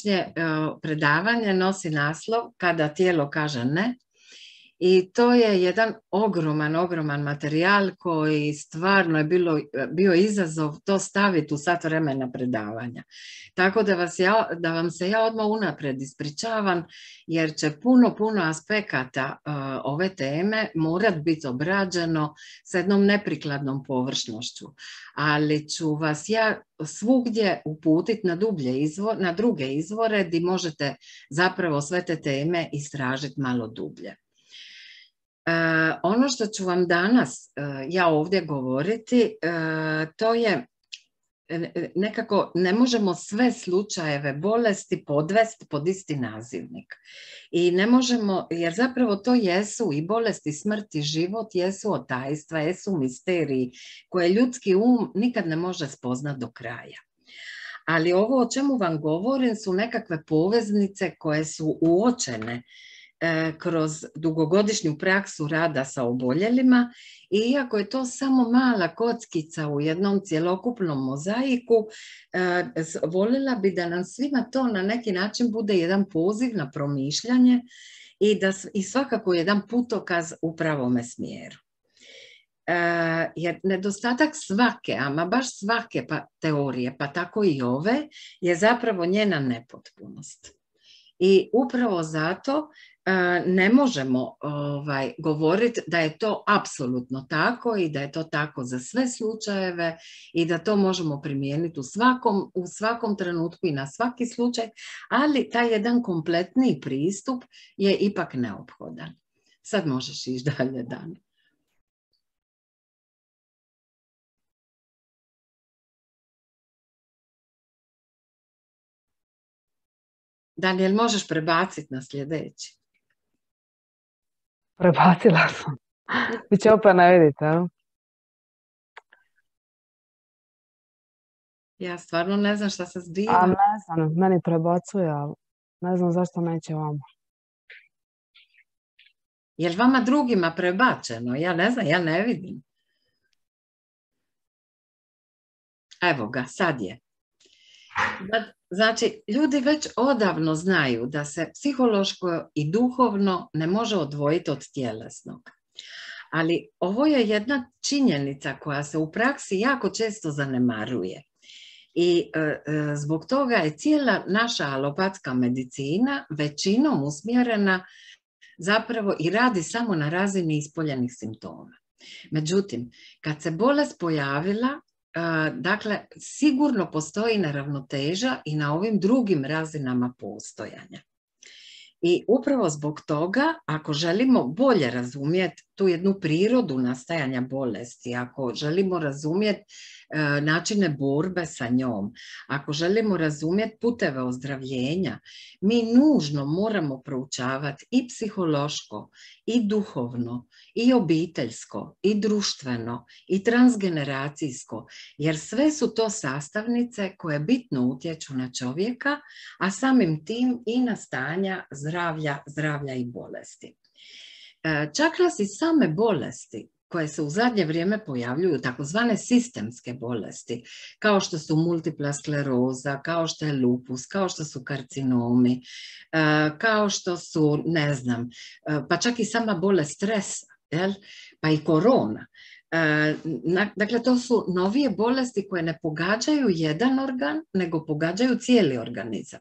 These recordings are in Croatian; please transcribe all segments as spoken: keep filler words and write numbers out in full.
današnje uh, predavanje nosi naslov Kada tijelo kaže ne. I to je jedan ogroman, ogroman materijal koji stvarno je bilo, bio izazov to staviti u sat vremena predavanja. Tako da, vas ja, da vam se ja odmah unaprijed ispričavam, jer će puno, puno aspekata uh, ove teme morat biti obrađeno s jednom neprikladnom površnošću. Ali ću vas ja svugdje uputiti na, dublje izvor, na druge izvore gdje možete zapravo sve te teme istražiti malo dublje. Uh, ono što ću vam danas uh, ja ovdje govoriti, uh, to je nekako, ne možemo sve slučajeve bolesti podvesti pod isti nazivnik. I ne možemo, jer zapravo to jesu i bolesti, smrt i život, jesu otajstva, jesu misteriji koje ljudski um nikad ne može spoznati do kraja. Ali ovo o čemu vam govorim su nekakve poveznice koje su uočene kroz dugogodišnju praksu rada sa oboljelima i iako je to samo mala kockica u jednom cjelokupnom mozaiku, voljela bi da nam svima to na neki način bude jedan poziv na promišljanje i, da, i svakako jedan putokaz u pravome smjeru. Jer nedostatak svake, ama baš svake pa, teorije, pa tako i ove, je zapravo njena nepotpunost. I upravo zato ne možemo ovaj, govoriti da je to apsolutno tako i da je to tako za sve slučajeve i da to možemo primijeniti u svakom, u svakom trenutku i na svaki slučaj, ali taj jedan kompletni pristup je ipak neophodan. Sad možeš ići dalje, Dan. Daniel, možeš prebaciti na sljedeći? Prebacila sam. Vi će opet ne vidite, ali? Ja stvarno ne znam šta se zbiva. A ne znam, meni prebacuje, ali ne znam zašto neće vama. Je li vama drugima prebačeno? Ja ne znam, ja ne vidim. Evo ga, sad je. Znači, ljudi već odavno znaju da se psihološko i duhovno ne može odvojiti od tjelesnog. Ali ovo je jedna činjenica koja se u praksi jako često zanemaruje. I e, e, zbog toga je cijela naša alopatska medicina većinom usmjerena zapravo i radi samo na razini ispoljenih simptoma. Međutim, kad se bolest pojavila, dakle, sigurno postoji neravnoteža i na ovim drugim razinama postojanja. I upravo zbog toga, ako želimo bolje razumjeti tu jednu prirodu nastajanja bolesti, ako želimo razumjeti e, načine borbe sa njom, ako želimo razumjeti puteve ozdravljenja, mi nužno moramo proučavati i psihološko, i duhovno, i obiteljsko, i društveno, i transgeneracijsko, jer sve su to sastavnice koje bitno utječu na čovjeka, a samim tim i na stanja zdravlja, zdravlja i bolesti. Čak nas i same bolesti koje se u zadnje vrijeme pojavljuju, takozvane sistemske bolesti, kao što su multipla skleroza, kao što je lupus, kao što su karcinomi, kao što su, ne znam, pa čak i sama bolest stresa, jel? Pa i korona. Dakle, to su novije bolesti koje ne pogađaju jedan organ, nego pogađaju cijeli organizam.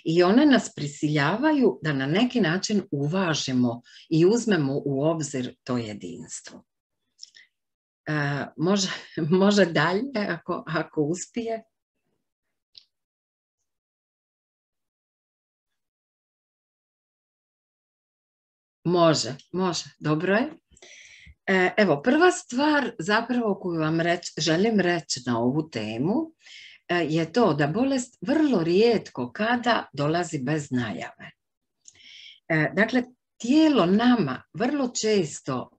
I one nas prisiljavaju da na neki način uvažimo i uzmemo u obzir to jedinstvo. Može, može dalje ako, ako uspije. Može, može, dobro je. Evo, prva stvar zapravo koju vam reć, želim reći na ovu temu je to da bolest vrlo rijetko kada dolazi bez najave. Dakle, tijelo nama vrlo često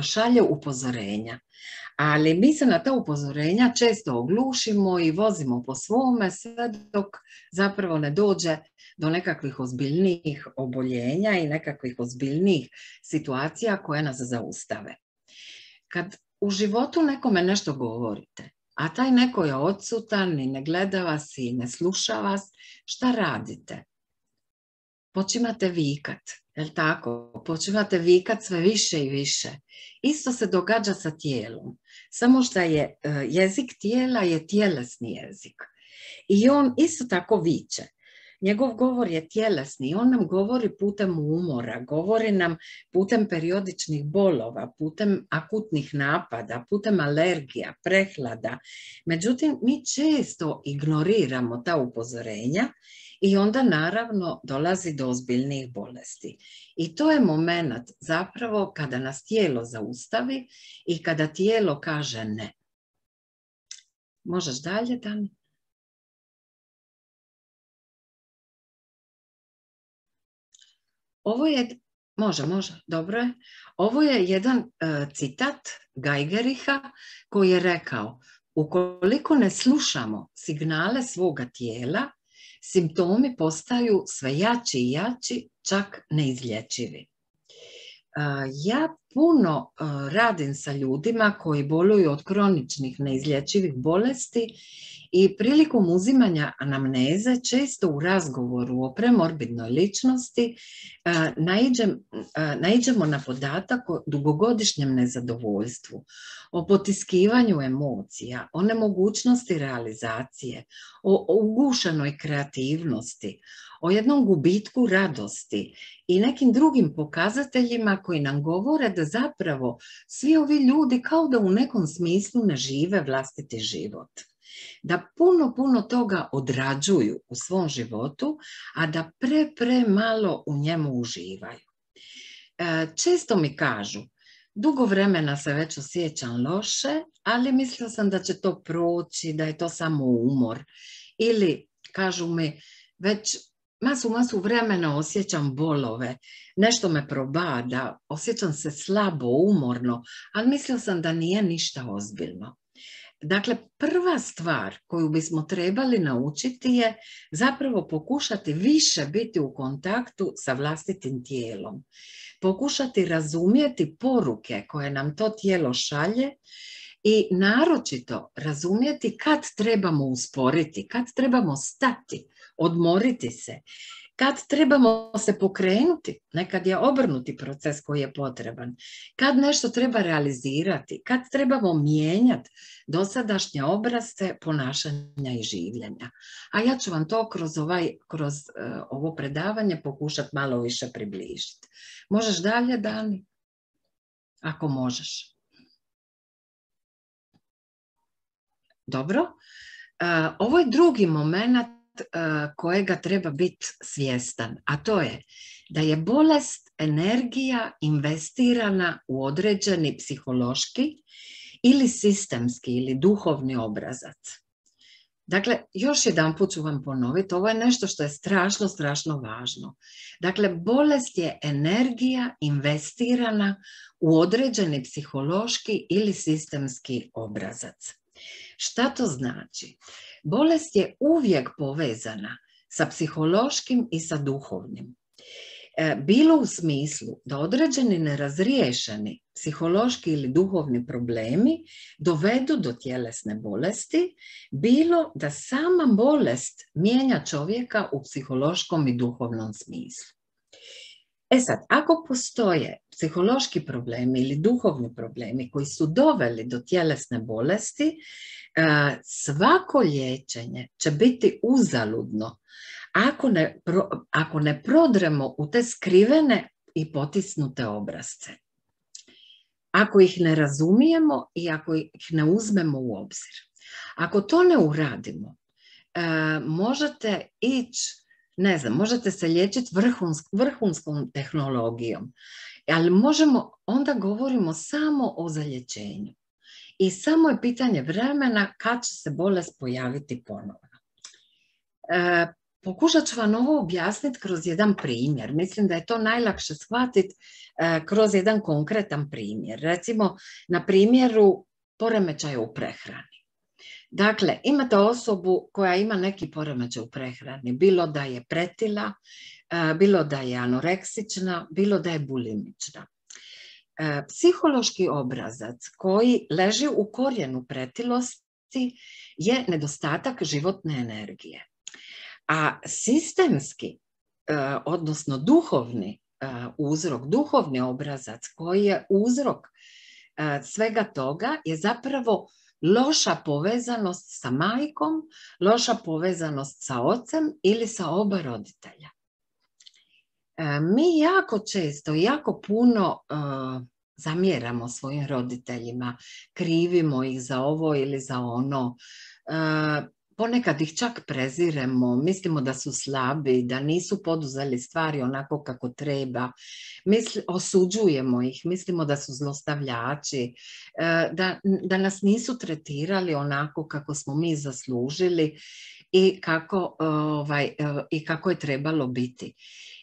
šalje upozorenja, ali mi se na ta upozorenja često oglušimo i vozimo po svome sve dok zapravo ne dođe do nekakvih ozbiljnijih oboljenja i nekakvih ozbiljnijih situacija koje nas zaustave. Kad u životu nekome nešto govorite, a taj neko je odsutan i ne gleda vas i ne sluša vas, šta radite? Počimate vikat, je li tako? Počimate vikat sve više i više. Isto se događa sa tijelom, samo što je jezik tijela je tjelesni jezik. I on isto tako viče. Njegov govor je tjelesni, on nam govori putem umora, govori nam putem periodičnih bolova, putem akutnih napada, putem alergija, prehlada. Međutim, mi često ignoriramo ta upozorenja i onda naravno dolazi do ozbiljnijih bolesti. I to je moment zapravo kada nas tijelo zaustavi i kada tijelo kaže ne. Možeš dalje, Dani? Ovo je, može, može, dobro je. Ovo je jedan uh, citat Geigericha koji je rekao: ukoliko ne slušamo signale svoga tijela, simptomi postaju sve jači i jači, čak neizlječivi. Uh, ja puno uh, radim sa ljudima koji boluju od kroničnih neizlječivih bolesti i prilikom uzimanja anamneze često u razgovoru o premorbidnoj ličnosti uh, naiđem, uh, naiđemo na podatak o dugogodišnjem nezadovoljstvu, o potiskivanju emocija, o nemogućnosti realizacije, o, o ugušenoj kreativnosti, o jednom gubitku radosti i nekim drugim pokazateljima koji nam govore da zapravo svi ovi ljudi kao da u nekom smislu ne žive vlastiti život. Da puno, puno toga odrađuju u svom životu, a da pre, pre malo u njemu uživaju. E, često mi kažu: dugo vremena se već osjećam loše, ali mislila sam da će to proći, da je to samo umor. Ili kažu mi: već masu, masu vremena osjećam bolove, nešto me probada, osjećam se slabo, umorno, ali mislila sam da nije ništa ozbiljno. Dakle, prva stvar koju bismo trebali naučiti je zapravo pokušati više biti u kontaktu sa vlastitim tijelom. Pokušati razumjeti poruke koje nam to tijelo šalje i naročito razumjeti kad trebamo usporiti, kad trebamo stati, odmoriti se, kad trebamo se pokrenuti, nekad je obrnuti proces koji je potreban, kad nešto treba realizirati, kad trebamo mijenjati dosadašnje obrasce ponašanja i življenja. A ja ću vam to kroz, ovaj, kroz uh, ovo predavanje pokušati malo više približiti. Možeš dalje, Dani? Ako možeš. Dobro. Uh, ovo je drugi moment kojega treba biti svjestan, a to je da je bolest energija investirana u određeni psihološki ili sistemski ili duhovni obrazac. Dakle, još jedan put ću vam ponoviti, ovo je nešto što je strašno, strašno važno. Dakle, bolest je energija investirana u određeni psihološki ili sistemski obrazac. Šta to znači? Bolest je uvijek povezana sa psihološkim i sa duhovnim. Bilo u smislu da određeni nerazriješeni psihološki ili duhovni problemi dovedu do tjelesne bolesti, bilo da sama bolest mijenja čovjeka u psihološkom i duhovnom smislu. E sad, ako postoje psihološki problemi ili duhovni problemi koji su doveli do tjelesne bolesti, svako liječenje će biti uzaludno ako ne, ako ne prodremo u te skrivene i potisnute obrasce. Ako ih ne razumijemo i ako ih ne uzmemo u obzir. Ako to ne uradimo, možete ići, ne znam, možete se liječiti vrhunsk, vrhunskom tehnologijom, ali možemo, onda govorimo samo o zalječenju. I samo je pitanje vremena kad će se bolest pojaviti ponovno. E, pokušat ću vam ovo objasniti kroz jedan primjer. Mislim da je to najlakše shvatiti e, kroz jedan konkretan primjer. Recimo, na primjeru poremećaja u prehrani. Dakle, imate osobu koja ima neki poremećaj u prehrani, bilo da je pretila, bilo da je anoreksična, bilo da je bulimična. Psihološki obrazac koji leži u korijenu pretilosti biti je nedostatak životne energije. A sistemski, odnosno duhovni uzrok, duhovni obrazac koji je uzrok svega toga je zapravo loša povezanost sa majkom, loša povezanost sa ocem ili sa oba roditelja. Mi jako često, jako puno uh, zamjeramo svojim roditeljima, krivimo ih za ovo ili za ono, uh, ponekad ih čak preziremo, mislimo da su slabi, da nisu poduzeli stvari onako kako treba, Misli, osuđujemo ih, mislimo da su zlostavljači, uh, da, da nas nisu tretirali onako kako smo mi zaslužili i kako, uh, ovaj, uh, i kako je trebalo biti.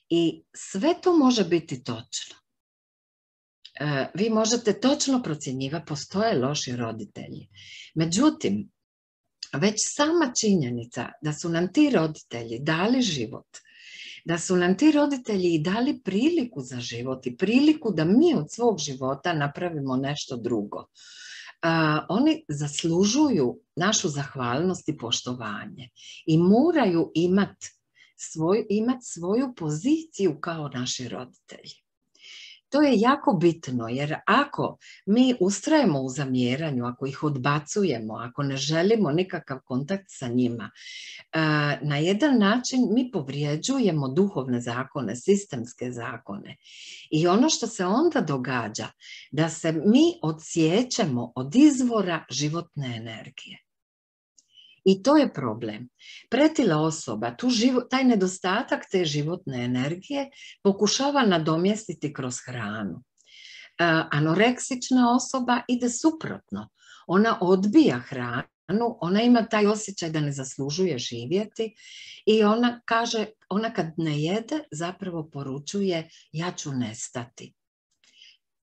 I sve to može biti točno. E, vi možete točno procjenjivati, postoje loši roditelji. Međutim, već sama činjenica da su nam ti roditelji dali život, da su nam ti roditelji i dali priliku za život i priliku da mi od svog života napravimo nešto drugo. E, oni zaslužuju našu zahvalnost i poštovanje i moraju imati Svoj, imati svoju poziciju kao naši roditelji. To je jako bitno, jer ako mi ustrajemo u zamjeranju, ako ih odbacujemo, ako ne želimo nikakav kontakt sa njima, na jedan način mi povrijeđujemo duhovne zakone, sistemske zakone. I ono što se onda događa, da se mi odsjećemo od izvora životne energije. I to je problem. Pretila osoba, tu živo, taj nedostatak te životne energije pokušava nadomjestiti kroz hranu. E, anoreksična osoba ide suprotno. Ona odbija hranu, ona ima taj osjećaj da ne zaslužuje živjeti i ona kaže, ona kad ne jede zapravo poručuje ja ću nestati.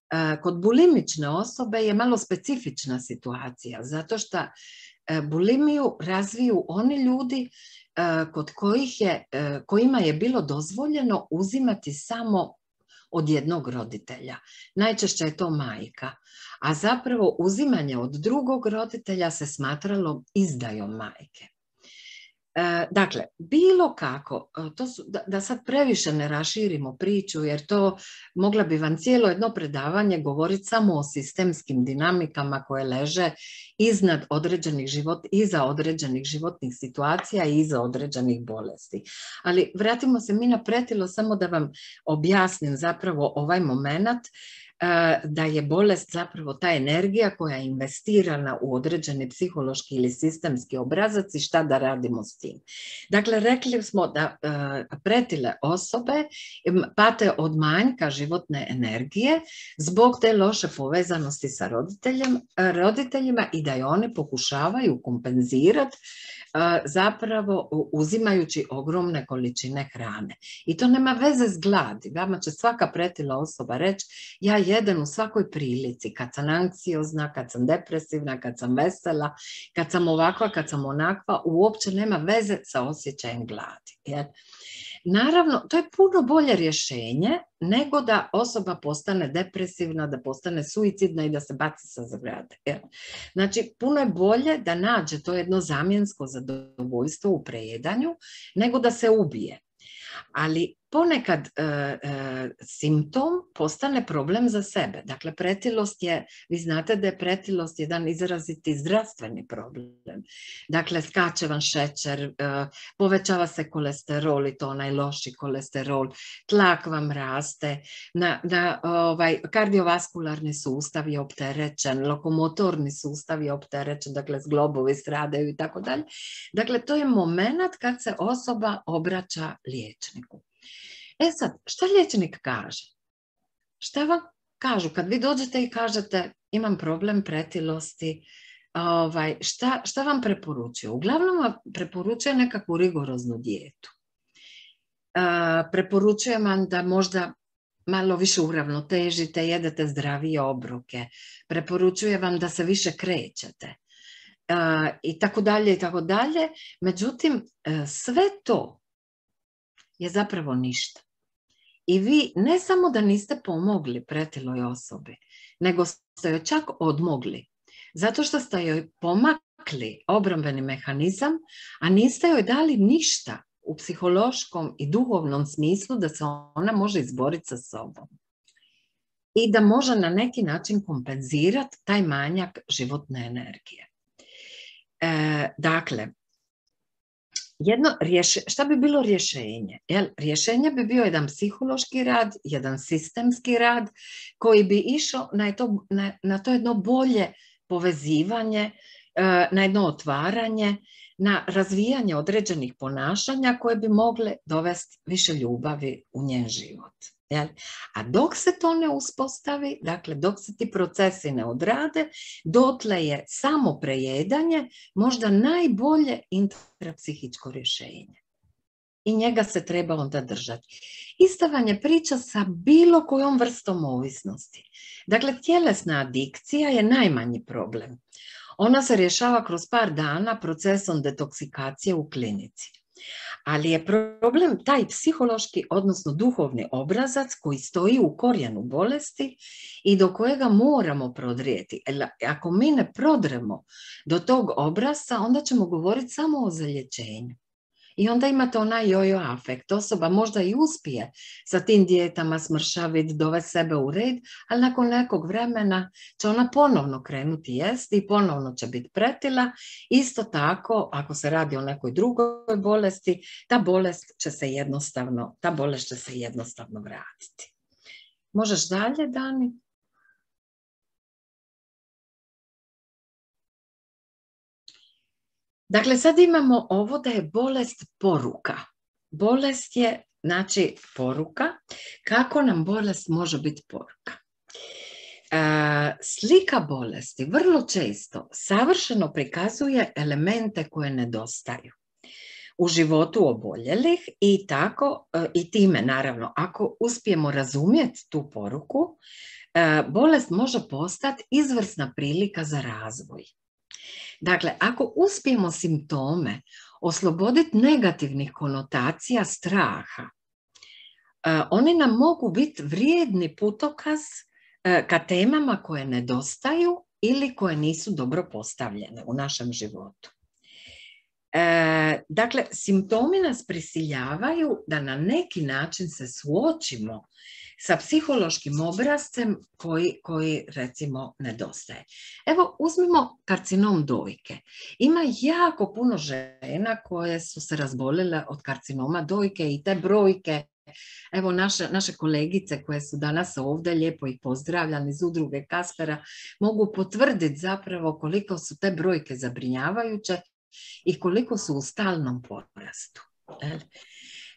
E, kod bulimične osobe je malo specifična situacija, zato što bulimiju razviju oni ljudi kod kojih je, kojima je bilo dozvoljeno uzimati samo od jednog roditelja. Najčešće je to majka, a zapravo uzimanje od drugog roditelja se smatralo izdajom majke. Dakle, bilo kako, to su, da, da sad previše ne raširimo priču, jer to mogla bi vam cijelo jedno predavanje govoriti samo o sistemskim dinamikama koje leže iznad određenih život, iza određenih životnih situacija i iza određenih bolesti. Ali vratimo se mi na pretilo samo da vam objasnim zapravo ovaj moment da je bolest zapravo ta energija koja je investirana u određeni psihološki ili sistemski obrazac i šta da radimo s tim. Dakle, rekli smo da pretile osobe pate od manjka životne energije zbog te loše povezanosti sa roditeljem, roditeljima i da je one pokušavaju kompenzirati zapravo uzimajući ogromne količine hrane. I to nema veze s gladi. Vama će svaka pretila osoba reći ja jedem u svakoj prilici, kad sam anksiozna, kad sam depresivna, kad sam vesela, kad sam ovakva, kad sam onakva, uopće nema veze sa osjećajem gladi. Jer, naravno, to je puno bolje rješenje nego da osoba postane depresivna, da postane suicidna i da se baci sa zgrade. Znači, puno je bolje da nađe to jedno zamjensko zadovoljstvo u prejedanju nego da se ubije. Ali ponekad e, e, simptom postane problem za sebe. Dakle, pretilost je, vi znate da je pretilost jedan izraziti zdravstveni problem. Dakle, skače vam šećer, e, povećava se kolesterol i to onaj loši kolesterol, tlak vam raste, na, na, ovaj, kardiovaskularni sustav je opterećen, lokomotorni sustav je opterećen, dakle, zglobovi stradaju i tako dalje. Dakle, to je moment kad se osoba obraća liječniku. E sad, šta liječnik kaže? Šta vam kažu? Kad vi dođete i kažete imam problem pretilosti, ovaj, šta, šta vam preporučuju? Uglavnom vam preporučuje nekakvu rigoroznu dijetu. Uh, preporučujem vam da možda malo više uravnotežite, jedete zdravije obroke. Preporučujem vam da se više krećete. Uh, I tako dalje, i tako dalje. Međutim, uh, sve to je zapravo ništa. I vi ne samo da niste pomogli pretiloj osobi, nego ste joj čak odmogli. Zato što ste joj pomakli makli obrambeni mehanizam, a niste joj dali ništa u psihološkom i duhovnom smislu da se ona može izboriti sa sobom i da može na neki način kompenzirati taj manjak životne energije. E, dakle, jedno rješe, šta bi bilo rješenje? Jel, rješenje bi bio jedan psihološki rad, jedan sistemski rad koji bi išao na to, na, na to jedno bolje povezivanje, na jedno otvaranje, na razvijanje određenih ponašanja koje bi mogle dovesti više ljubavi u njen život. Jel? A dok se to ne uspostavi, dakle dok se ti procesi ne odrade, dotle je samo prejedanje možda najbolje intrapsihičko rješenje. I njega se treba onda držati. Ista vam je priča sa bilo kojom vrstom ovisnosti. Dakle, tjelesna adikcija je najmanji problem. Ona se rješava kroz par dana procesom detoksikacije u klinici. Ali je problem taj psihološki, odnosno duhovni obrazac koji stoji u korijenu bolesti i do kojega moramo prodrijeti. Ako mi ne prodremo do tog obrazca, onda ćemo govoriti samo o zalječenju. I onda imate onaj jojo afekt. Osoba možda i uspije sa tim dijetama smršaviti, dovesti sebe u red, ali nakon nekog vremena će ona ponovno krenuti jesti i ponovno će biti pretila. Isto tako, ako se radi o nekoj drugoj bolesti, ta bolest će se jednostavno, ta bolest će se jednostavno vratiti. Možeš dalje, Dani? Dakle, sad imamo ovo da je bolest poruka. Bolest je, znači, poruka. Kako nam bolest može biti poruka? E, slika bolesti vrlo često savršeno prikazuje elemente koje nedostaju u životu oboljelih i tako, i time naravno, ako uspijemo razumjeti tu poruku, e, bolest može postati izvrsna prilika za razvoj. Dakle, ako uspijemo simptome osloboditi negativnih konotacija straha, oni nam mogu biti vrijedni putokaz ka temama koje nedostaju ili koje nisu dobro postavljene u našem životu. Dakle, simptomi nas prisiljavaju da na neki način se suočimo sa psihološkim obrazcem koji, koji recimo nedostaje. Evo, uzmimo karcinom dojke. Ima jako puno žena koje su se razbolile od karcinoma dojke i te brojke, evo naše, naše kolegice koje su danas ovdje, lijepo ih pozdravljam iz udruge Kaspera, mogu potvrditi zapravo koliko su te brojke zabrinjavajuće i koliko su u stalnom porastu.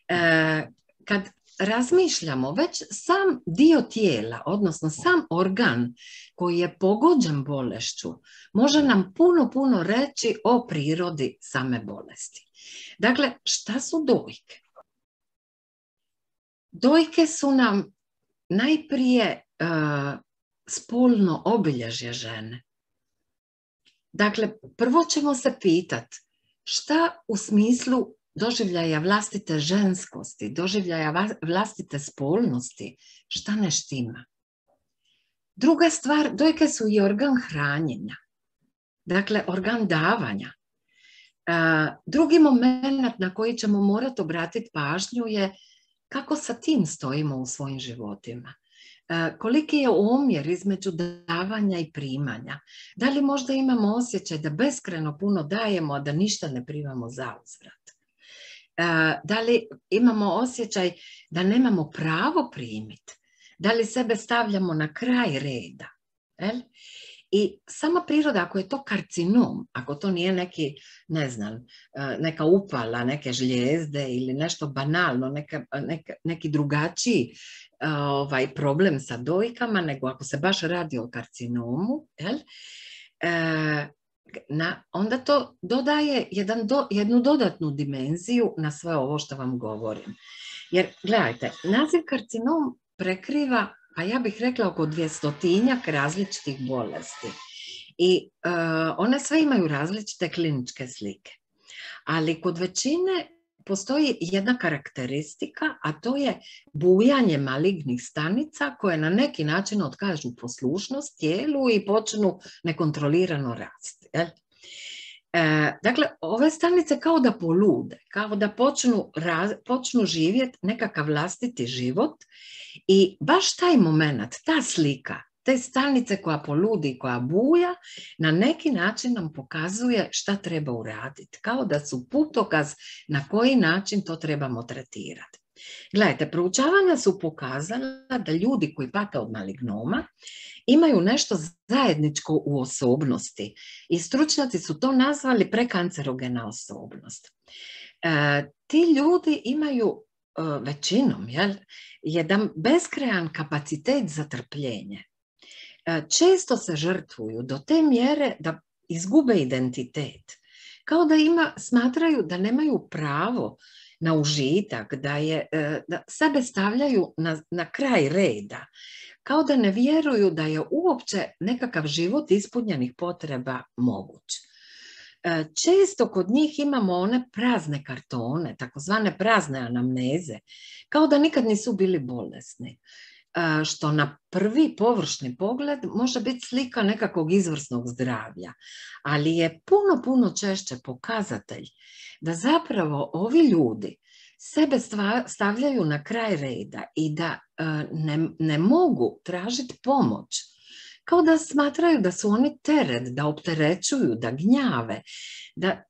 E, kad razmišljamo, već sam dio tijela, odnosno sam organ koji je pogođen bolešću, može nam puno, puno reći o prirodi same bolesti. Dakle, šta su dojke? Dojke su nam najprije uh, spolno obilježje žene. Dakle, prvo ćemo se pitati šta u smislu doživljaja vlastite ženskosti, doživljaja vlastite spolnosti, šta ne štima. Druga stvar, dojke su i organ hranjenja, dakle organ davanja. Drugi moment na koji ćemo morati obratiti pažnju je kako sa tim stojimo u svojim životima. Koliki je omjer između davanja i primanja? Da li možda imamo osjećaj da beskrajno puno dajemo, a da ništa ne primamo za uzvrat? Da li imamo osjećaj da nemamo pravo primiti? Da li sebe stavljamo na kraj reda? El? I sama priroda, ako je to karcinom, ako to nije neki, ne znam, neka upala, neke žlijezde ili nešto banalno, neka, neka, neki drugačiji ovaj, problem sa dojkama, nego ako se baš radi o karcinomu, el? E, na, onda to dodaje jedan do, jednu dodatnu dimenziju na sve ovo što vam govorim. Jer, gledajte, naziv karcinom prekriva, pa ja bih rekla oko dvjestotinjak različitih bolesti. I uh, one sve imaju različite kliničke slike. Ali kod većine postoji jedna karakteristika, a to je bujanje malignih stanica koje na neki način otkažu poslušnost tijelu i počnu nekontrolirano rasti. Jel? E, dakle, ove stanice kao da polude, kao da počnu, raz, počnu živjeti nekakav vlastiti život i baš taj moment, ta slika, te stanice koja poludi, koja buja, na neki način nam pokazuje šta treba uraditi, kao da su putokaz na koji način to trebamo tretirati. Gledajte, proučavanja su pokazala da ljudi koji pate od malignom imaju nešto zajedničko u osobnosti i stručnjaci su to nazvali prekancerogena osobnost. E, ti ljudi imaju e, većinom jel, jedan beskrajan kapacitet za trpljenje. E, često se žrtvuju do te mjere da izgube identitet. Kao da ima, smatraju da nemaju pravo na užitak, da, je, da sebe stavljaju na, na kraj reda, kao da ne vjeruju da je uopće nekakav život ispunjenih potreba moguć. Često kod njih imamo one prazne kartone, takozvane prazne anamneze, kao da nikad nisu bili bolesni, što na prvi površni pogled može biti slika nekakvog izvrsnog zdravlja, ali je puno, puno češće pokazatelj da zapravo ovi ljudi sebe stavljaju na kraj reda i da ne, ne mogu tražiti pomoć, kao da smatraju da su oni teret, da opterećuju, da gnjave, da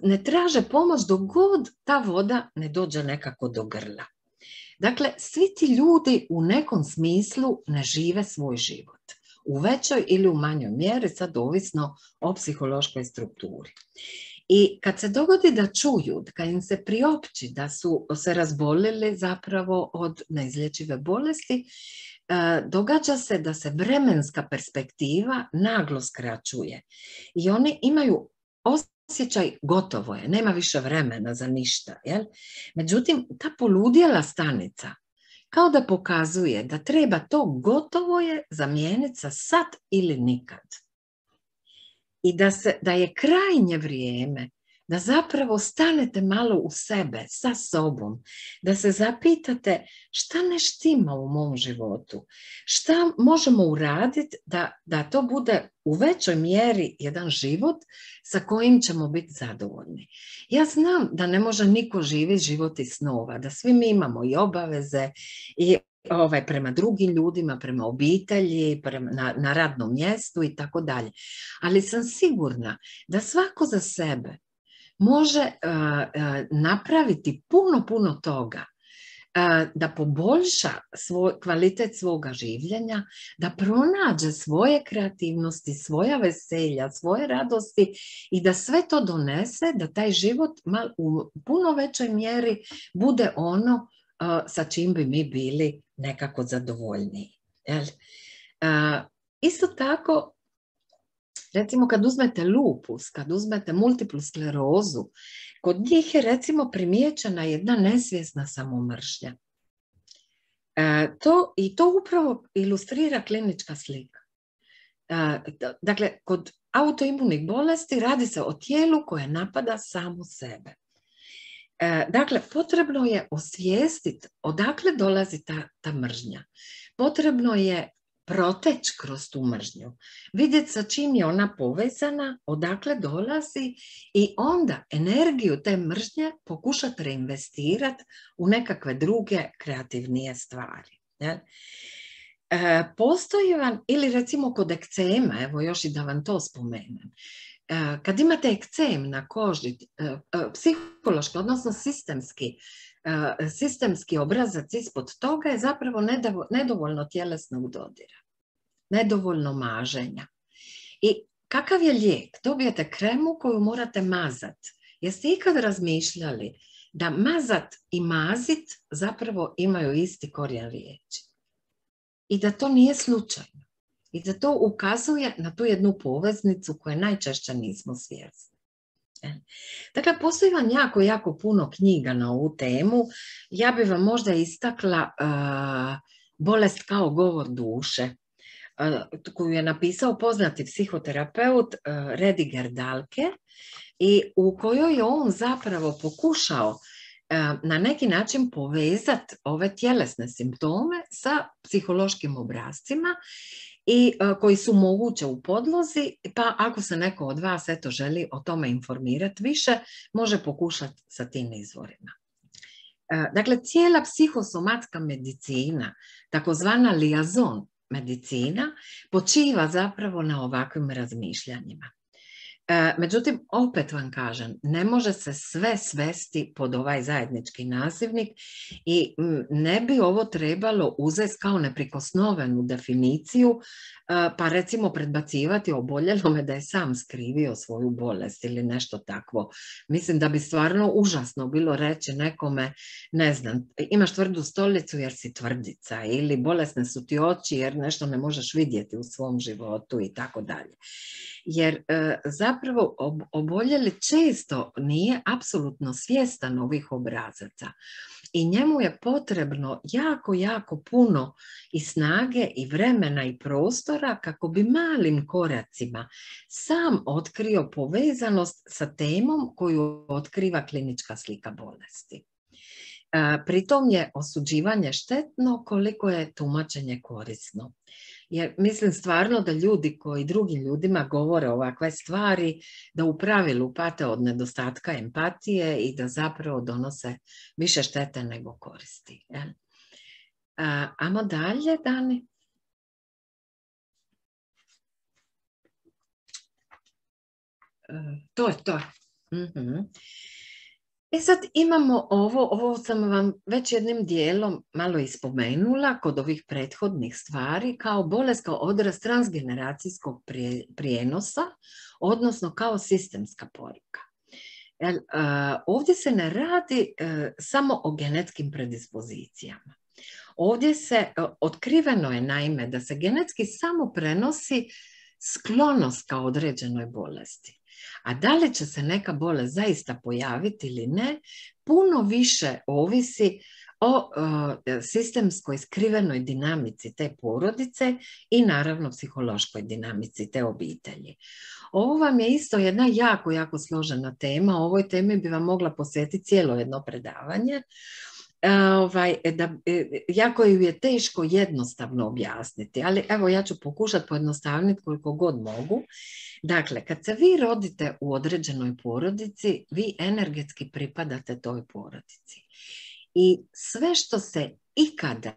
ne traže pomoć dok god ta voda ne dođe nekako do grla. Dakle, svi ti ljudi u nekom smislu ne žive svoj život, u većoj ili u manjoj mjeri, sad ovisno o psihološkoj strukturi. I kad se dogodi da čuju, kad im se priopći da su se razbolili zapravo od neizlječive bolesti, događa se da se vremenska perspektiva naglo skraćuje i oni imaju osjećaj gotovo je, nema više vremena za ništa. Jel? Međutim, ta poludjela stanica kao da pokazuje da treba to gotovo je zamijeniti sa sad ili nikad. I da, se, da je krajnje vrijeme da zapravo stanete malo u sebe, sa sobom, da se zapitate šta ne štima u mom životu, šta možemo uraditi da, da to bude u većoj mjeri jedan život sa kojim ćemo biti zadovoljni. Ja znam da ne može niko živjeti život iz snova, da svi mi imamo i obaveze i Ovaj, prema drugim ljudima, prema obitelji, prema, na, na radnom mjestu i tako dalje. Ali sam sigurna da svako za sebe može uh, uh, napraviti puno, puno toga, uh, da poboljša svoj, kvalitet svoga življenja, da pronađe svoje kreativnosti, svoja veselja, svoje radosti i da sve to donese, da taj život mal, u puno većoj mjeri bude ono Uh, sa čim bi mi bili nekako zadovoljniji. Jel? Uh, isto tako, recimo kad uzmete lupus, kad uzmete multiplu sklerozu, kod njih je recimo primijećena jedna nesvjesna samomržnja. Uh, to, I to upravo ilustrira klinička slika. Uh, dakle, kod autoimunih bolesti radi se o tijelu koje napada samo sebe. Dakle, potrebno je osvijestiti odakle dolazi ta, ta mržnja. Potrebno je proteći kroz tu mržnju, vidjeti sa čim je ona povezana, odakle dolazi i onda energiju te mržnje pokušati reinvestirati u nekakve druge kreativnije stvari. E, postoji vam, ili recimo kod ekcema, evo još i da vam to spomenem, kad imate ekcem na koži, psihološki, odnosno sistemski, sistemski obrazac ispod toga je zapravo nedovoljno tjelesnog dodira, nedovoljno maženja. I kakav je lijek? Dobijete kremu koju morate mazat. Jeste ikad razmišljali da mazat i mazit zapravo imaju isti korijen riječi? I da to nije slučajno. I da to ukazuje na tu jednu poveznicu koju najčešće nismo svjesni. Dakle, postoji vam jako, jako puno knjiga na ovu temu. Ja bih vam možda istakla uh, Bolest kao govor duše, uh, koju je napisao poznati psihoterapeut uh, Rediger Dahlke i u kojoj je on zapravo pokušao uh, na neki način povezati ove tjelesne simptome sa psihološkim obrascima i koji su moguće u podlozi, pa ako se neko od vas eto želi o tome informirati više, može pokušati sa tim izvorima. Dakle, cijela psihosomatska medicina, takozvana liaison medicina, počiva zapravo na ovakvim razmišljanjima. Međutim, opet vam kažem, ne može se sve svesti pod ovaj zajednički nazivnik i ne bi ovo trebalo uzeti kao neprikosnovenu definiciju, pa recimo predbacivati oboljelome da je sam skrivio svoju bolest ili nešto takvo. Mislim da bi stvarno užasno bilo reći nekome, ne znam, imaš tvrdu stolicu jer si tvrdica, ili bolesne su ti oči jer nešto ne možeš vidjeti u svom životu i tako dalje. Jer zapravo oboljeli često nije apsolutno svjestan ovih obrazaca i njemu je potrebno jako, jako puno i snage i vremena i prostora kako bi malim koracima sam otkrio povezanost sa temom koju otkriva klinička slika bolesti. Pritom je osuđivanje štetno koliko je tumačenje korisno. Jer mislim stvarno da ljudi koji drugim ljudima govore ovakve stvari, da u pravilu pate od nedostatka empatije i da zapravo donose više štete nego koristi. Jel? A, amo dalje, Dani. E, to je to. Mhm. E sad imamo ovo, ovo sam vam već jednim dijelom malo ispomenula kod ovih prethodnih stvari, kao bolest, kao odraz transgeneracijskog prijenosa, odnosno kao sistemska poruka. Jer, uh, ovdje se ne radi uh, samo o genetskim predispozicijama. Ovdje se, uh, otkriveno je naime da se genetski samo prenosi sklonost ka određenoj bolesti. A da li će se neka bolest zaista pojaviti ili ne, puno više ovisi o uh, sistemskoj skrivenoj dinamici te porodice i naravno psihološkoj dinamici te obitelji. Ovo vam je isto jedna jako, jako složena tema. O ovoj temi bi vam mogla posvetiti cijelo jedno predavanje. Ovaj, da, jako ju je teško jednostavno objasniti, ali evo ja ću pokušati pojednostavniti koliko god mogu. Dakle, kad se vi rodite u određenoj porodici, vi energetski pripadate toj porodici. I sve što se ikada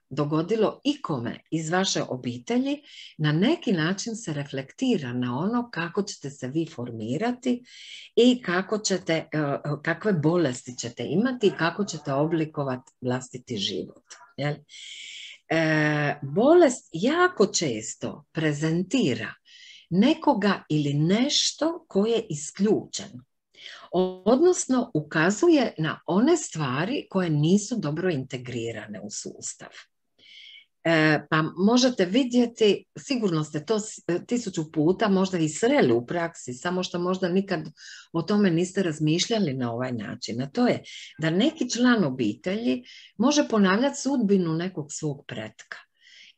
dogodilo ikome iz vaše obitelji, na neki način se reflektira na ono kako ćete se vi formirati i kako ćete, kakve bolesti ćete imati i kako ćete oblikovati vlastiti život. Jel? E, bolest jako često prezentira nekoga ili nešto koje je isključeno. Odnosno ukazuje na one stvari koje nisu dobro integrirane u sustav. E, pa možete vidjeti, sigurno ste to tisuću puta možda i sreli u praksi, samo što možda nikad o tome niste razmišljali na ovaj način. A to je da neki član obitelji može ponavljati sudbinu nekog svog pretka.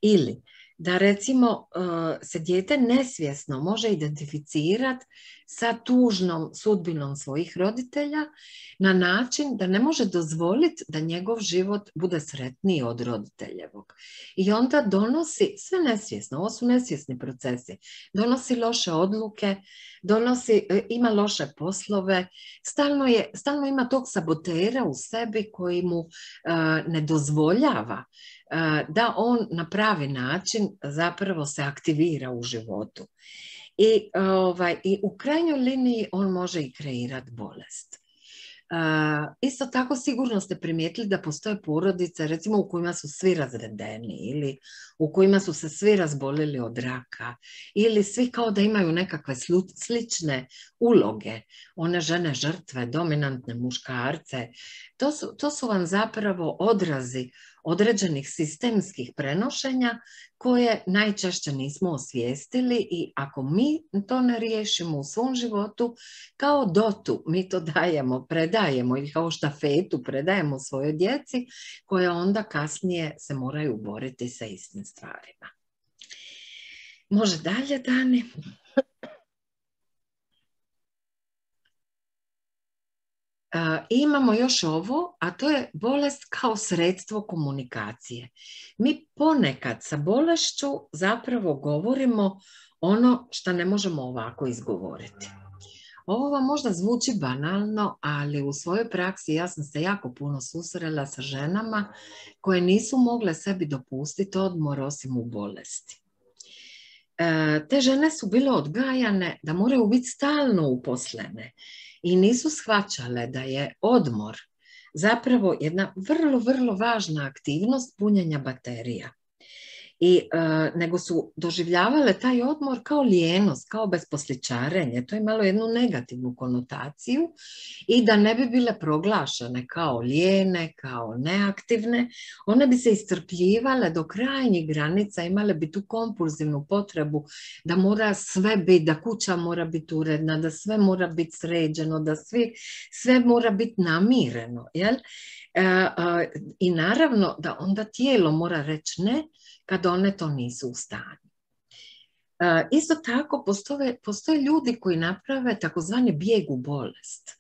Ili da recimo se dijete nesvjesno može identificirati sa tužnom sudbinom svojih roditelja na način da ne može dozvoliti da njegov život bude sretniji od roditeljevog. I onda donosi, sve nesvjesno, ovo su nesvjesni procesi, donosi loše odluke, donosi, ima loše poslove, stalno, je, stalno ima tog sabotera u sebi koji mu uh, ne dozvoljava da on na pravi način zapravo se aktivira u životu. I, ovaj, i u krajnjoj liniji on može i kreirati bolest. Uh, isto tako sigurno ste primijetili da postoje porodice recimo u kojima su svi razvedeni ili u kojima su se svi razbolili od raka ili svi kao da imaju nekakve slične uloge, one žene žrtve, dominantne muškarce. To su, to su vam zapravo odrazi određenih sistemskih prenošenja koje najčešće nismo osvijestili i ako mi to ne riješimo u svom životu, kao dotu mi to dajemo, predajemo ili kao štafetu predajemo svojoj djeci koje onda kasnije se moraju boriti sa istim stvarima. Može dalje, Dani? imamo još ovo, a to je bolest kao sredstvo komunikacije. Mi ponekad sa bolešću zapravo govorimo ono što ne možemo ovako izgovoriti. Ovo vam možda zvuči banalno, ali u svojoj praksi ja sam se jako puno susrela sa ženama koje nisu mogle sebi dopustiti odmor osim u bolesti. Te žene su bile odgajane da moraju biti stalno uposlene i nisu shvaćale da je odmor zapravo jedna vrlo, vrlo važna aktivnost punjenja baterija. I, e, nego su doživljavale taj odmor kao lijenost, kao besposličarenje. To je imalo jednu negativnu konotaciju i da ne bi bile proglašene kao lijene, kao neaktivne, one bi se iscrpljivale do krajnjih granica, imale bi tu kompulzivnu potrebu da mora sve biti, da kuća mora biti uredna, da sve mora biti sređeno, da svi, sve mora biti namireno. Jel? E, e, I naravno da onda tijelo mora reći ne, kad one to nisu u stanju. E, isto tako postoje, postoje ljudi koji naprave takozvani bijeg u bolest.